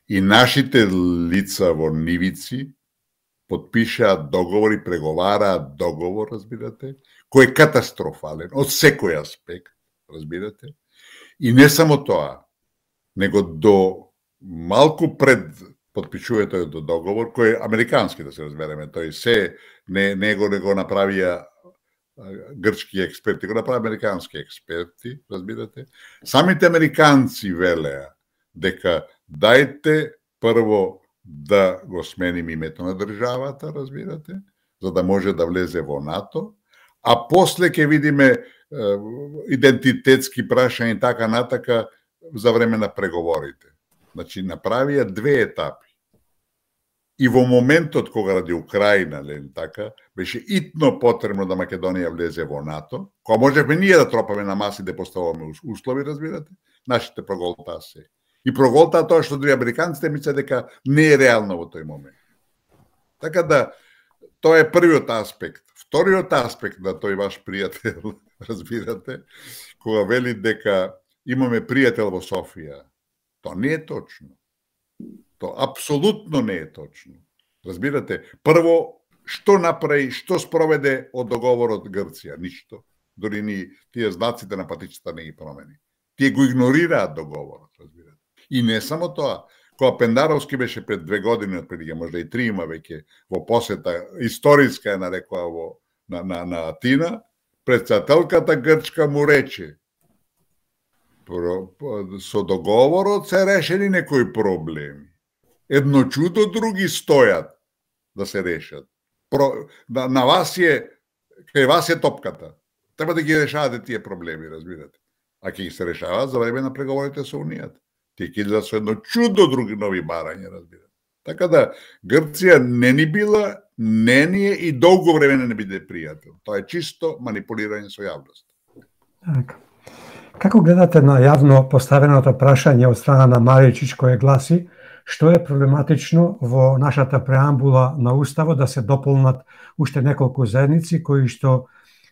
И нашите лица во нивици подпишаат договор и преговараат договор, разбирате, кој е катастрофален од секој аспект, разбирате. И не само тоа, него до малку пред подпишувањето до договор, кој е американски, да се разбереме, тој се не го направија грчки експерти, го направи американски експерти, разбирате. Самите американци велеа дека дајте прво да го сменим името на државата, разбирате, за да може да влезе во НАТО, а после ќе видиме идентитетски прашања и така натака за време на преговорите. Значи, направија две етапи. И во моментот кога ради Украина, така, беше итно потребно да Македонија влезе во НАТО, кога можевме ние да тропаме на маси да поставаме услови, разбирате, нашите проголтаа се. И проголтаа тоа што други американците мислат дека не е реално во тој момент. Така да, тоа е првиот аспект. Вториот аспект на тој ваш пријател, разбирате, кога вели дека имаме пријател во Софија, тоа не е точно. Тоа апсолутно не е точно. Разбирате, прво, што направи, што спроведе од договорот Грција? Ништо. Дори ни тие знаците на патичата не ги промени. Тие го игнорираат договорот, разбирате. И не само тоа, кога Пендаровски беше пред 2 години, отприлike, можда и 3 има веќе во посета, историска е нарекоа на Атина, председателката грчка му рече, со договорот се решени некои проблеми. Едно чудо, други стојат да се решат. На вас кај вас е топката. Треба да ги решавате тие проблеми, разбирате. А ќе ги се решаваат за време на преговорите со Унијата. Тие ќе идат со едно чудо, други нови барања, разбирате. Така да, Грција не ни била, не ни е и долго време не биде пријател. Тоа е чисто манипулирање со јавност. Така. Како гледате на јавно поставеното прашање од страна на Маричич кое гласи што е проблематично во нашата преамбула на Уставот да се дополнат уште неколку заедници кои што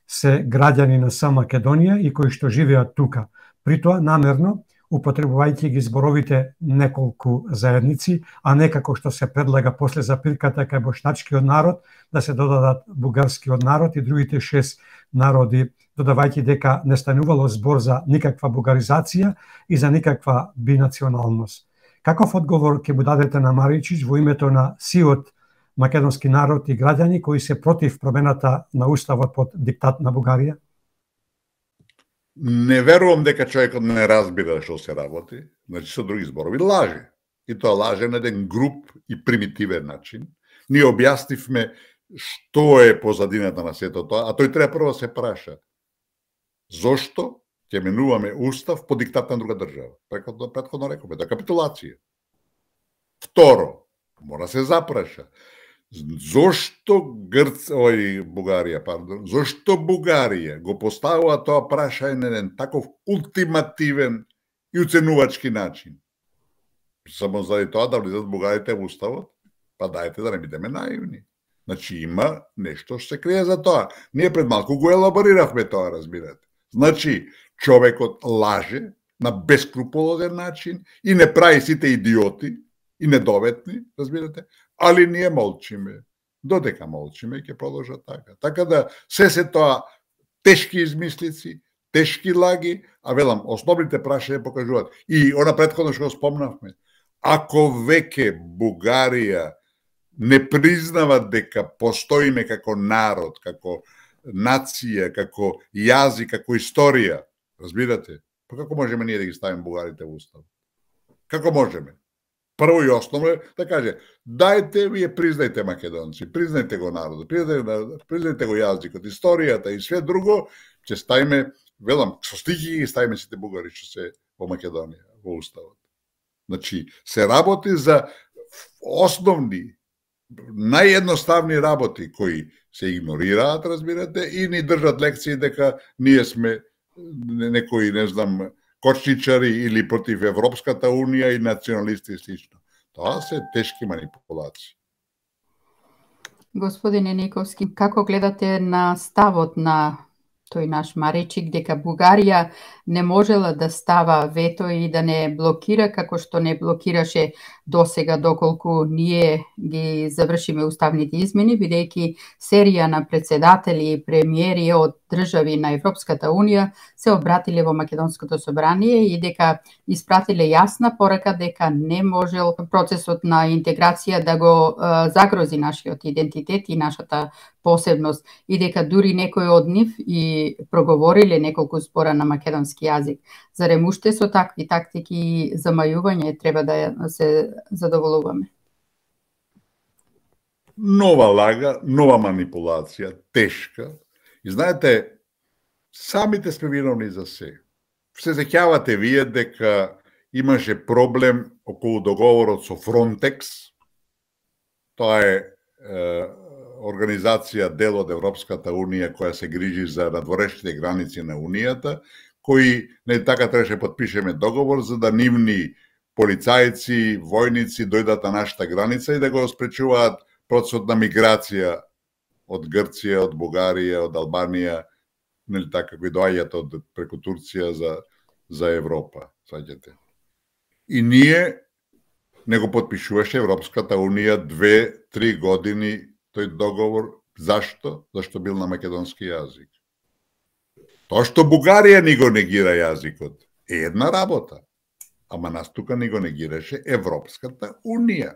се граѓани на сама Македонија и кои што живеат тука. При тоа намерно употребувајќи ги зборовите неколку заедници, а не како што се предлага после запирката кај бошначкиот народ да се додадат бугарскиот народ и другите 6 народи, додавајќи дека не станувало збор за никаква бугаризација и за никаква бинационалност. Каков одговор ќе му дадете на Маричич во името на сиот македонски народ и граѓани кои се против промената на Уставот под диктат на Бугарија? Не верувам дека човекот не разбира што се работи, значи со други зборови лаже. И тоа лаже на еден груп и примитивен начин. Ние објаснивме што е позадината на сето тоа, а тој треба прво да се праша. Зошто ќе менуваме устав по диктат на друга држава? Претходно рековме, да капитулација. Второ, мора се запраша. Зошто зошто Бугарија го поставува тоа прашање на еден таков ултимативен и уценувачки начин? Само заради тоа да влизат бугарите во уставот? Па дајте да не бидеме наивни. Значи има нешто што се крие за тоа. Ние пред малку го елабориравме тоа, разбирате. Значи, човекот лаже на бескруполозен начин и не прави сите идиоти и недоветни, разбирате, али ние молчиме. Додека молчиме, ќе продолжа така. Така да, се тоа тешки измислици, тешки лаги, а велам, основните прашања покажуваат. И она претходно што го спомнавме, ако веќе Бугарија не признава дека постоиме како народ, како нација, како јазик, како историја, разбирате, Па како можеме ние да ги ставиме бугарите во устав? Како можеме? Прво и основно е да каже, дајте вие признајте македонци, признајте го народот, признајте го јазикот, историјата и све друго, ќе ставиме, велам, со стихи ги ставиме сите бугари што се во Македонија, во уставот. Значи, се работи за основни, наједноставни работи кои се игнорираат, разбирате, и ни држат лекции дека ние сме некои, не знам, кочничари или против Европската Унија и националисти и слично. Тоа се тешки манипулации. Господине Никовски, како гледате на ставот на тој наш Маречик дека Бугарија не можела да става вето и да не блокира како што не блокираше досега доколку ние ги завршиме уставните измени, бидејќи серија на председатели и премиери од држави на Европската Унија се обратиле во Македонското собрание и дека испратиле јасна порака дека не можел процесот на интеграција да го загрози нашиот идентитет и нашата посебност и дека дури некои од нив и проговориле неколку збора на македонски јазик. Зарем уште со такви тактики и замајување треба да се задоволуваме? Нова лага, нова манипулација, тешка. И знаете, самите сме виновни за се. Се сеќавате вие дека имаше проблем околу договорот со Фронтекс. Тоа е организација дел од Европската Унија која се грижи за надворешните граници на Унијата, кои не така требаше подпишеме договор за да нивни полицајци, војници дојдат на нашата граница и да го спречуваат процесот на миграција од Грција, од Бугарија, од Албанија, нели така, кои доаѓаат од преку Турција за Европа, сваќате. И ние не го подпишуваше Европската Унија 2-3 години тој договор. Зашто? Зашто бил на македонски јазик. Тоа што Бугарија ни го негира јазикот е една работа, ама нас тука ни го негираше Европската Унија.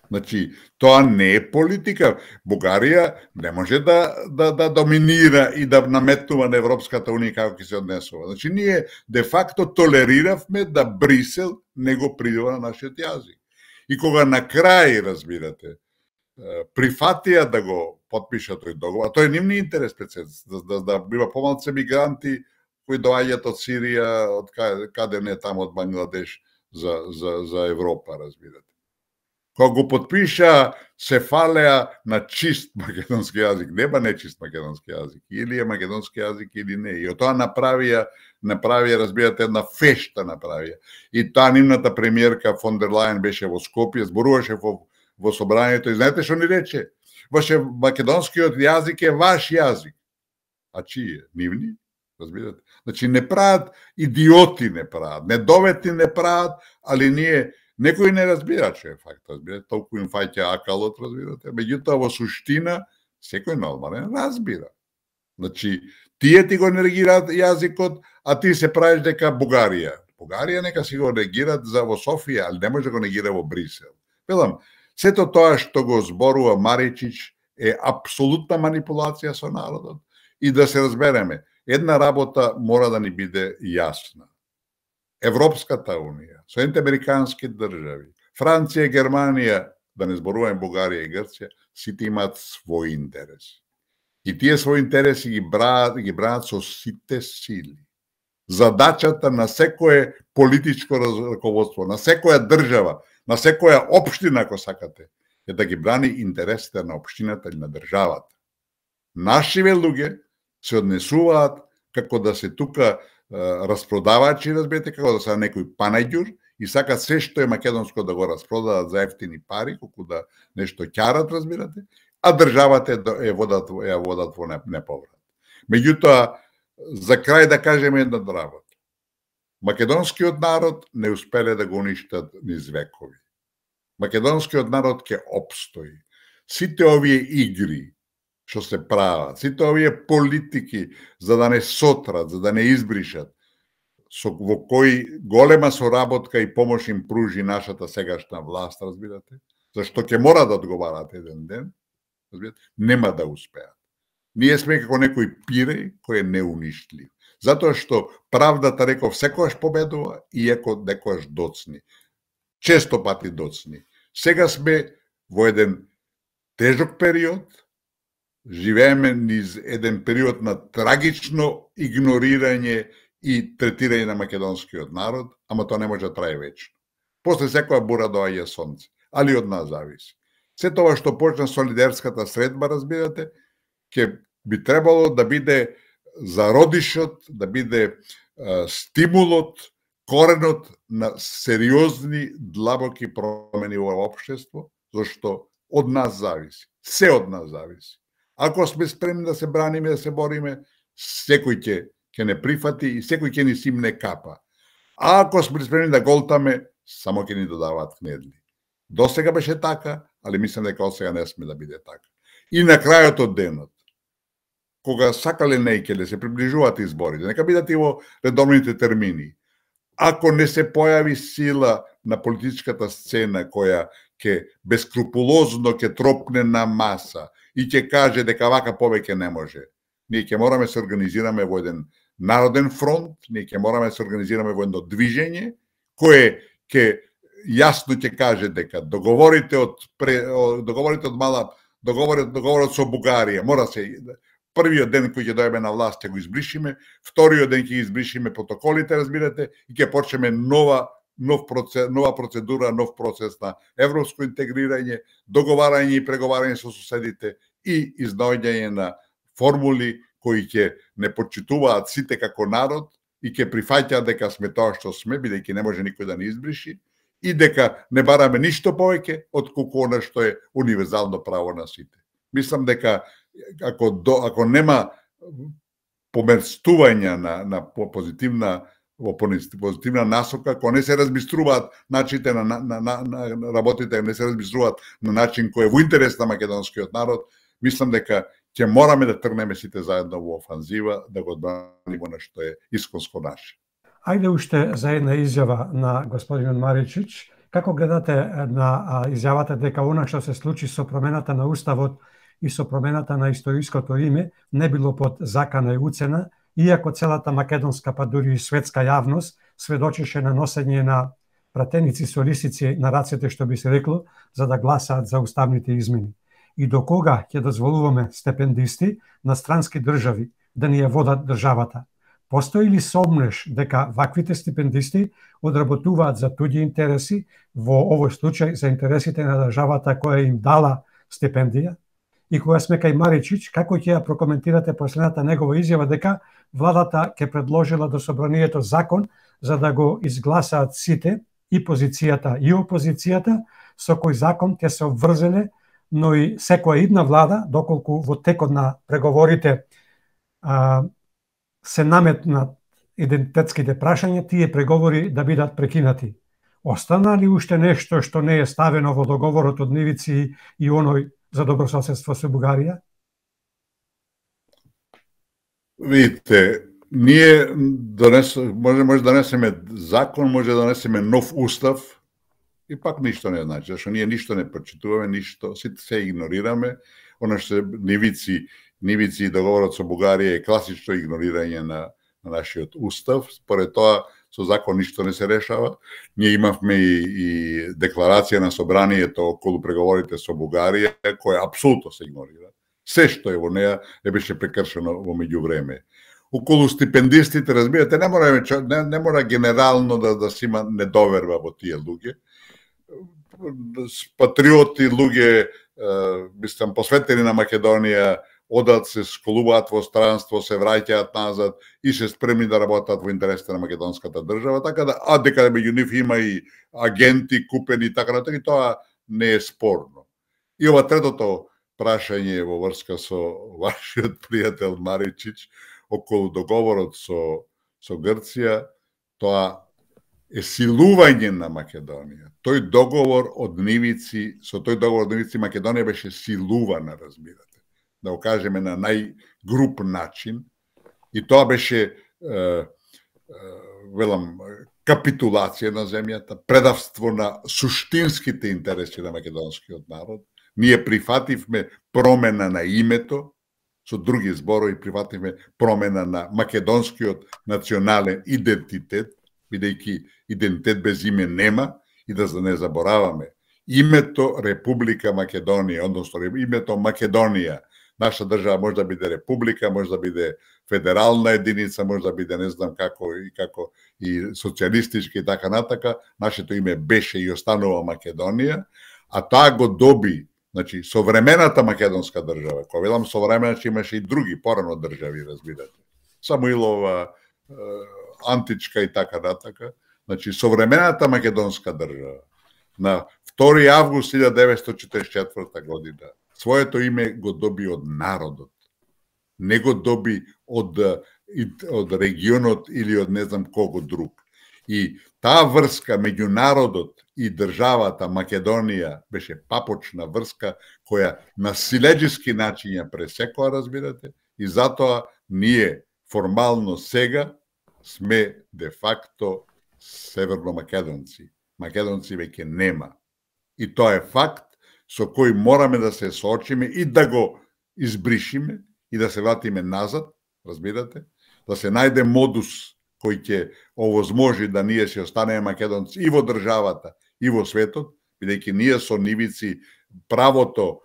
Значи, тоа не е политика. Бугарија не може да доминира и да наметнува на Европската Унија како ќе се однесува. Значи, ние де факто толериравме да Брисел не го придува на нашиот јазик. И кога на крај, разбирате, прифатија да го подпишат тој договор, а тој е нивни интерес, да бива помалце мигранти кои доаѓаат од Сирија, од каде не таму од Бангладеш за Европа, разбирате. Кога го подпиша, се фалеа на чист македонски јазик, нема нечист македонски јазик, или е македонски јазик или не. И од тоа направија, разбирате, една фешта направија. И таа нивната премиерка фон дер Лајен беше во Скопје, зборуваше во собранието и знаете што ни рече? Ваше македонскиот јазик е ваш јазик. А чие? Нивни? Разбирате? Значи не прават идиоти, не прават, недоветни не прават, али ние некои не разбираат што е факт, разбирате, толку им фаќа акалот, разбирате, меѓутоа во суштина секој нормален разбира. Значи, тие ти го негираат јазикот, а ти се правиш дека Бугарија. Бугарија нека си го негираат за во Софија, али не може да го негира во Брисел. Велам, сето тоа што го зборува Маричич е апсолутна манипулација со народот. И да се разбереме, една работа мора да ни биде јасна. Европската Унија, Соединените американски држави, Франција, Германија, да не зборуваме Бугарија и Грција, сите имаат свој интерес. И тие своји интереси ги бранат со сите сили. Задачата на секое политичко раководство, на секоја држава, на секоја општина, ако сакате, е да ги брани интересите на општината или на државата. Нашиве луѓе се однесуваат како да се тука распродавачи, разберете, како да се некој панаѓур и сакат се што е македонско да го распродадат за ефтини пари, колку да нешто ќарат, разбирате, а државата ја водат во неповрат. Меѓутоа, за крај да кажеме една работа. Македонскиот народ не успеле да го уништат низ векови. Македонскиот народ ќе опстои. Сите овие игри што се прават, сите овие политики за да не сотрат, за да не избришат, во кои голема соработка и помош им пружи нашата сегашна власт, разбирате, зашто ќе мора да одговарат еден ден, разбирате, нема да успеат. Ние сме како некој пиреј кој е неуништлив. Затоа што правдата, реков, секојаш победува, иако некојаш доцни. Често пати доцни. Сега сме во еден тежок период, живееме низ еден период на трагично игнорирање и третирање на македонскиот народ, ама тоа не може да трае вечно. После секоја бура доаѓа сонце, али од нас зависи. Се тоа што почна солидарската средба, разбирате, ќе би требало да биде зародишот, да биде стимулот, коренот на сериозни, длабоки промени во општество, зашто од нас зависи. Се од нас зависи. Ако сме спремни да се браниме, да се бориме, секој ќе не прифати и секој ќе ни симне капа. А ако сме спремни да голтаме, само ќе ни додаваат кнедли. До сега беше така, али мислам дека од сега не сме да биде така. И на крајот од денот, кога сакале нејкеле се приближуваат изборите, нека бидат и во редовните термини. Ако не се појави сила на политичката сцена која ќе бескрупулозно ќе тропне на маса и ќе каже дека вака повеќе не може, ние ќе мораме се организираме во еден народен фронт, ние ќе мораме се организираме во едно движење кое ќе јасно ќе каже дека договорите од договорот со Бугарија мора се првиот ден кој ќе дојдеме на власт ќе го избришиме, вториот ден ќе избришиме протоколите, разбирате, и ќе почнеме нова процедура, нов процес на европско интегрирање, договарање и преговарање со соседите и изнаоѓање на формули кои ќе не почитуваат сите како народ и ќе прифаќаат дека сме тоа што сме, бидејќи не може никој да ни избриши, и дека не бараме ништо повеќе од она што е универзално право на сите. Мислам дека ако нема померстување на позитивна насока, ако не се разбиструваат начините на работите, не се разбиструваат на начин кој е во интерес на македонскиот народ, мислам дека ќе мораме да тргнеме сите заедно во офанзива, да го одбраниме на што е исконско наше. Ајде уште за една изјава на господинот Маричич. Како гледате на изјавата дека она што се случи со промената на Уставот и со промената на историското име не било под закана и уцена, иако целата македонска, па дури и светска јавност сведочеше на носење на пратеници со лисици на рацете, што би се рекло, за да гласаат за уставните измени? И до кога ќе дозволуваме стипендисти на странски држави да ни ја водат државата? Постои ли сомнеш дека ваквите стипендисти одработуваат за туѓи интереси, во овој случај за интересите на државата која им дала стипендија? И кога сме кај Маричич, како ќе ја прокоментирате последната негова изјава дека владата ќе предложила до собранието закон за да го изгласаат сите, и позицијата и опозицијата, со кој закон ќе се обврзеле, но и секоја идна влада, доколку во текот на преговорите се наметнат идентитетските прашања, тие преговори да бидат прекинати. Остана ли уште нешто што не е ставено во договорот од Нивици и оној за добрососедство со Бугарија? Видите, ние може да донесеме закон, може да донесеме нов устав и пак ништо не значи, зашто ние ништо не прочитуваме, ништо, сите се игнорираме. Она што Нивици и договорот со Бугарија е класично игнорирање на нашиот устав. Според тоа, со закон ништо не се решава. Ние имавме и декларација на собранието околу преговорите со Бугарија, која апсолутно се игнорира. Се што е во неа беше прекршено во меѓувреме. Околу стипендистите, разбирате, не мора генерално да се има недоверба во тие луѓе. Патриоти, луѓе, мислам, посветени на Македонија, одат, се школуваат во странство, се враќаат назад и се спремни да работат во интересите на македонската држава, така да, дека меѓу нив има и агенти купени, така да, и тоа не е спорно. И ова третото прашање во врска со вашиот пријател Маричич околу договорот со Грција, тоа е силување на Македонија. Со тој договор од Нивици Македонија беше силувана, разбирате. Да го кажеме на најгруп начин. И тоа беше, капитулација на земјата, предавство на суштинските интереси на македонскиот народ. Ние прифативме промена на името, со други зборови прифативме промена на македонскиот национален идентитет, бидејќи идентитет без име нема, и да не забораваме името Република Македонија, односно името Македонија. Наша држава може да биде република, може да биде федерална единица, може да биде не знам како и социјалистички и така натака. Нашето име беше и останува Македонија, а таа го доби, значи, современата македонска држава. Кога велам современа, имаше и други порано држави, разбирате. Самуилова, античка и така натака. Значи, современата македонска држава на 2 август 1944 година своето име го доби од народот. Не го доби од регионот или од не знам кого друг. И таа врска меѓу народот и државата Македонија беше папочна врска која на силеџиски начин ја пресекоа, разбирате, и затоа ние формално сега сме де факто северномакедонци. Македонци веќе нема. И тоа е факт со кој мораме да се соочиме и да го избришиме и да се вратиме назад, разбирате, да се најде модус кој ќе овозможи да ние се останеме македонци и во државата, и во светот, бидејќи ние со нивици правото,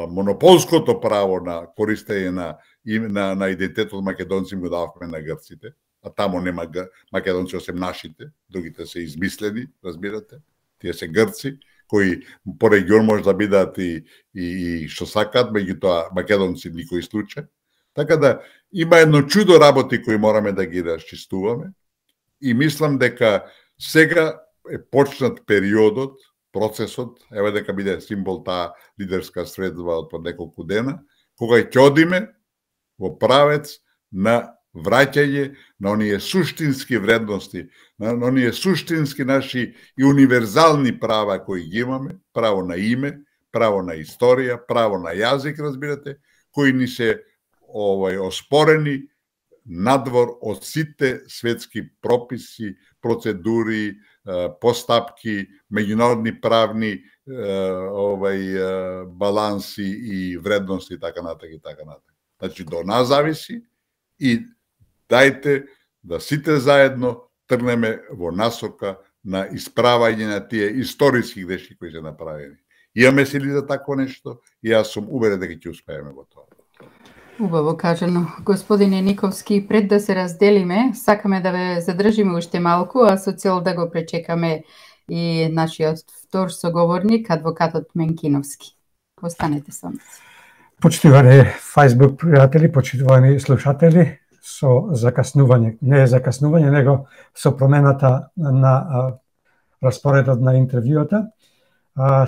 монополското право на користење на идентитетот македонци го дававме на грците, а тамо нема македонци осем нашите, другите се измислени, разбирате, тие се грци, кои по регион може да бидат и што сакат, меѓутоа македонци никој случај. Така да има едно чудо работи кои мораме да ги расчистуваме и мислам дека сега е почнат периодот, процесот, еве дека биде символ таа лидерска средба од неколку дена, кога ќе одиме во правец на враќање на оние суштински вредности, на оние суштински наши и универзални права кои ги имаме, право на име, право на историја, право на јазик, разбирате, кои ни се оспорени надвор од сите светски прописи, процедури, постапки, меѓународни правни баланси и вредности и така натака и така натака. Значи до нас зависи и дајте да сите заедно тргнеме во насока на исправање на тие историски грешки кои се направени. Имаме сили за такво нешто и јас сум уверен дека ќе успееме во тоа. Убаво кажано. Господине Никовски, пред да се разделиме, сакаме да ве задржиме уште малку, а со цел да го пречекаме и нашиот втор соговорник, адвокатот Менкиновски. Останете со нас. Почитувани Facebook пријатели, почитувани слушатели, со закаснување, не е закаснување, него со промената на распоредот на интервјуата.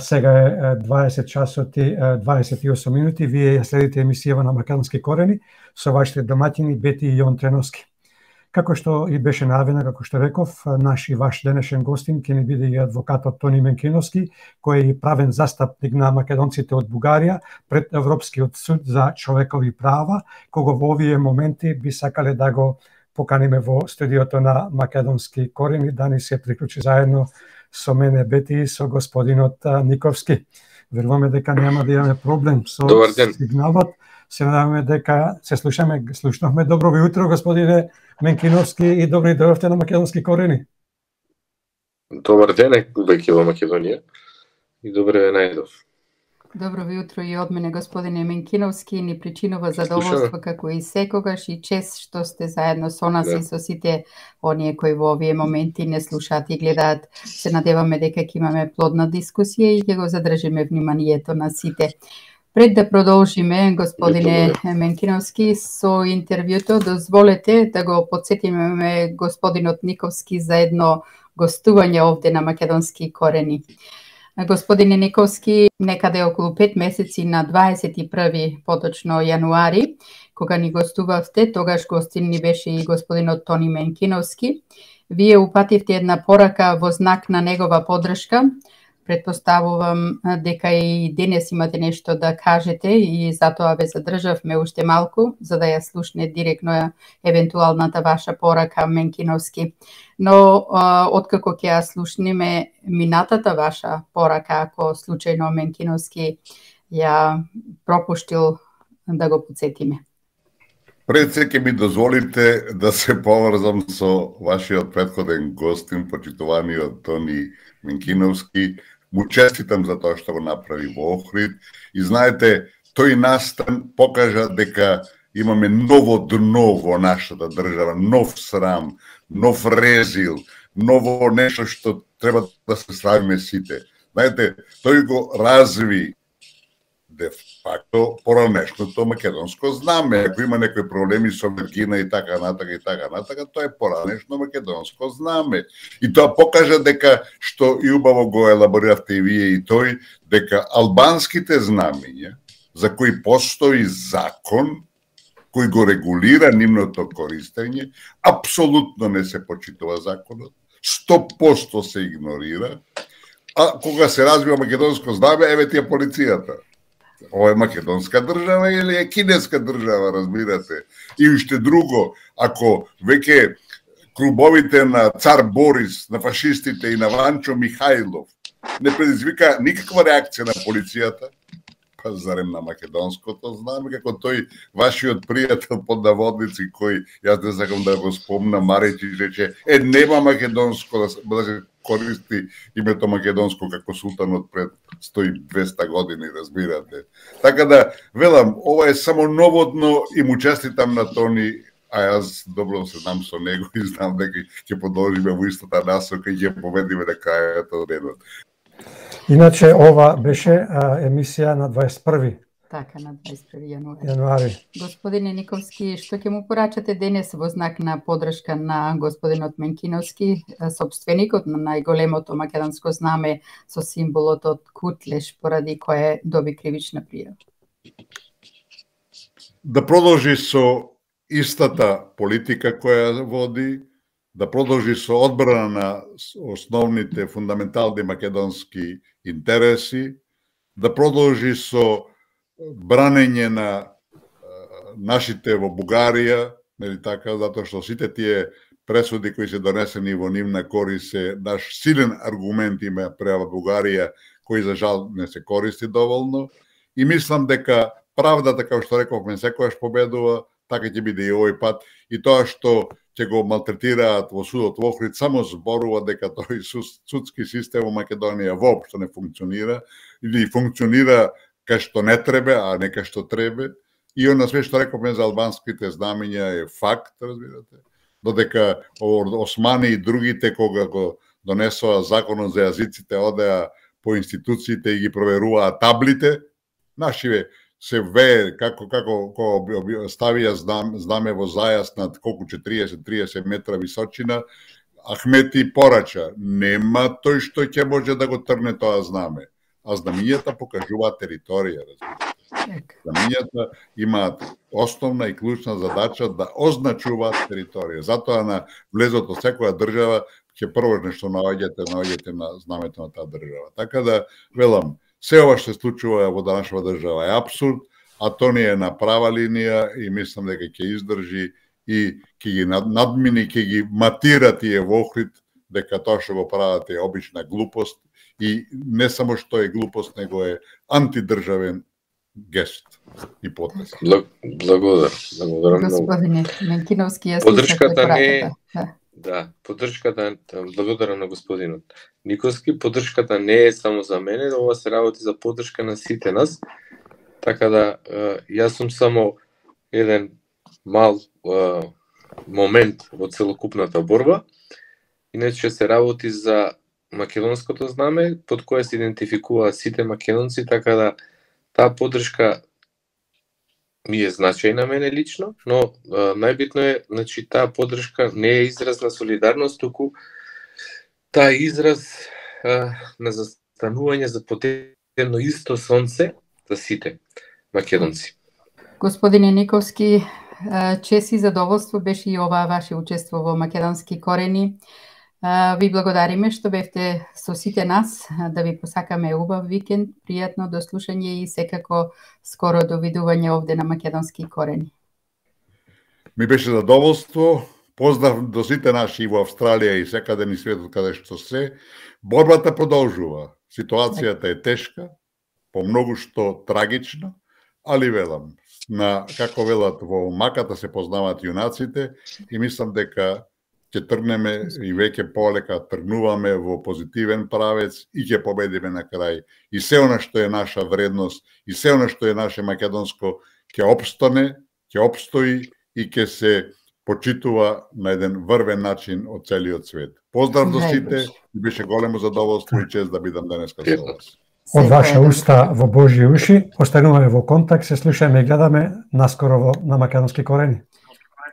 Сега е 20 часот и 28 минути. Вие ја следите емисијава на Македонски корени со вашите домаќини Бети и Јон Треновски. Како што и беше најавено, како што реков, наш и ваш денешен гостин ќе ни биде и адвокатот Тони Менкиновски, кој е и правен застапник на македонците од Бугарија пред Европскиот суд за човекови права, кога во овие моменти би сакале да го поканиме во студиото на Македонски корени, да ни се приклучи заедно со мене Бети и со господинот Никовски. Веруваме дека нема да имаме проблем со сигналот. Се надеваме дека се слушнавме. Добро ви утро, господине Менкиновски, и добри дојдовте на Македонски корени. Добар ден, веќе во Македонија, и добре ве најдов. Добро ви утро и од мене, господине Менкиновски, ни причинува задоволство како и секогаш и чест што сте заедно со нас и со сите оние кои во овие моменти не слушаат и гледаат. Се надеваме дека ќе имаме плодна дискусија и ќе го задржиме вниманието на сите. Пред да продолжиме, господине Менкиновски, со интервјуто, дозволете да го подсетиме господинот Никовски за едно гостување овде на Македонски корени. Господине Никовски, некаде околу 5 месеци на 21 поточно јануари, кога ни гостувавте, тогаш гостин ни беше и господинот Тони Менкиновски. Вие упативте една порака во знак на негова поддршка. Предпоставувам дека и денес имате нешто да кажете и затоа ве задржавме уште малку, за да ја слушне директно евентуалната ваша порака, Менкиновски. Но откако ќе ја слушнеме минатата ваша порака, ако случајно Менкиновски ја пропуштил да го подсетиме. Пред се ќе ми дозволите да се поврзам со вашиот претходен гостин, почитуваниот Тони Менкиновски. Му честитам за тоа што го направи во Охрид. И знаете, тој настан покажа дека имаме ново дно во нашата држава, нов срам, нов резил, ново нешто што треба да се срамиме сите. Знаете, тој го разви де факто поранешното македонско знаме. Ако има некои проблеми со Виргина и така натака, тоа е поранешно македонско знаме. И тоа покажа дека, што и убаво го елабориравте и вие и тој, дека албанските знамења, за кои постои закон, кој го регулира нивното користење, апсолутно не се почитува законот, 100% се игнорира, а кога се развива македонско знаме, еве ти е полицијата. Ова е македонска држава или е кинеска држава, разбирате? И уште друго, ако веќе клубовите на цар Борис, на фашистите и на Ванчо Михајлов не предизвика никаква реакција на полицијата, па зарем на македонското знаме, како тој вашиот пријател под наводници, кој, јас не сакам да го спомнам, Маречи рече, нема македонско да се користи името македонско како султанот пред 100-200 години, разбирате. Така да, велам, ова е само новодно и му честитам на Тони, а јас добро се знам со него и знам дека ќе продолжиме во истата насока и ќе победиме на крајот од денот. Иначе ова беше емисија на 21. Така, на 21 јануари. Господине Никовски, што ќе му порачате денес во знак на подршка на господинот Менкиновски, собственикот на најголемото македонско знаме со символот од Кутлеш, поради кое доби кривична пријава? Да продолжи со истата политика која води, да продолжи со одбрана на основните фундаментални македонски интереси, да продолжи со бранење на нашите во Бугарија, нели така, затоа што сите тие пресуди кои се донесени во нивна корист се наш силен аргумент има према Бугарија, кој за жал не се користи доволно. И мислам дека правдата, како што рековме, секогаш победува, така ќе биде и овој пат. И тоа што ќе го малтретираат во судот во Охрид само зборува дека тој судски систем во Македонија воопшто не функционира или функционира кај што не требе, а не кај што требе. И она све што рековме за албанските знамења е факт, разбирате. Додека османи и другите кога го донесоа законот за јазиците, одеа по институциите и ги проверуваа таблите, нашиве се вее како ставија знаме во зајас над колку 40 метра височина, Ахмети порача, нема тој што ќе може да го трне тоа знаме. А знамењата покажуваат територија, разбирате. Знамењата имаат основна и клучна задача да означуваат територија. Затоа на влезот од секоја држава ќе прво нешто наоѓате на знамето на таа држава. Така да, велам, се ова што се случува во данашната држава е апсурд, а тоа не е на права линија и мислам дека ќе издржи и ќе ги надмини, ќе ги матира тие во Охрид, дека тоа што го прават е обична глупост и не само што е глупост, него е антидржавен гест и потез. Благодарам многу. Господине Менкиновски, јас Поддршката не да, поддршката, благодарам на господинот Никовски, поддршката не е само за мене, ова се работи за поддршка на сите нас. Така да, јас сум само еден мал момент во целокупната борба. Иначе се работи за македонското знаме, под кое се идентификуваат сите македонци, така да таа поддршка ми е значајна мене лично, но најбитно е, значи, таа поддршка не е израз на солидарност, туку таа израз на застанување за потебно исто сонце за сите македонци. Господине Никовски, чест и задоволство беше и оваа ваше учество во Македонски корени. Ви благодариме што бевте со сите нас, да ви посакаме убав викенд, пријатно дослушање и секако скоро довидување овде на Македонски корени. Ми беше задоволство. Поздрав до сите наши во Австралија и секаде ни светот каде што се. Борбата продолжува. Ситуацијата е тешка, по многу што трагична, али велам, на, како велат, во маката се познаваат јунаците и мислам дека ќе тргнеме и веќе полека тргнуваме во позитивен правец и ќе победиме на крај. И се она што е наша вредност, и се она што е наше македонско, ќе опстане, ќе опстои и ќе се почитува на еден врвен начин од целиот свет. Поздрав до сите, и беше големо задоволство и чест да бидам денеска со вас. Од ваша уста во Божји уши, остануваме во контакт, се слушаме и гледаме наскоро на Македонски корени.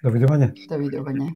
Довидување. Довидување.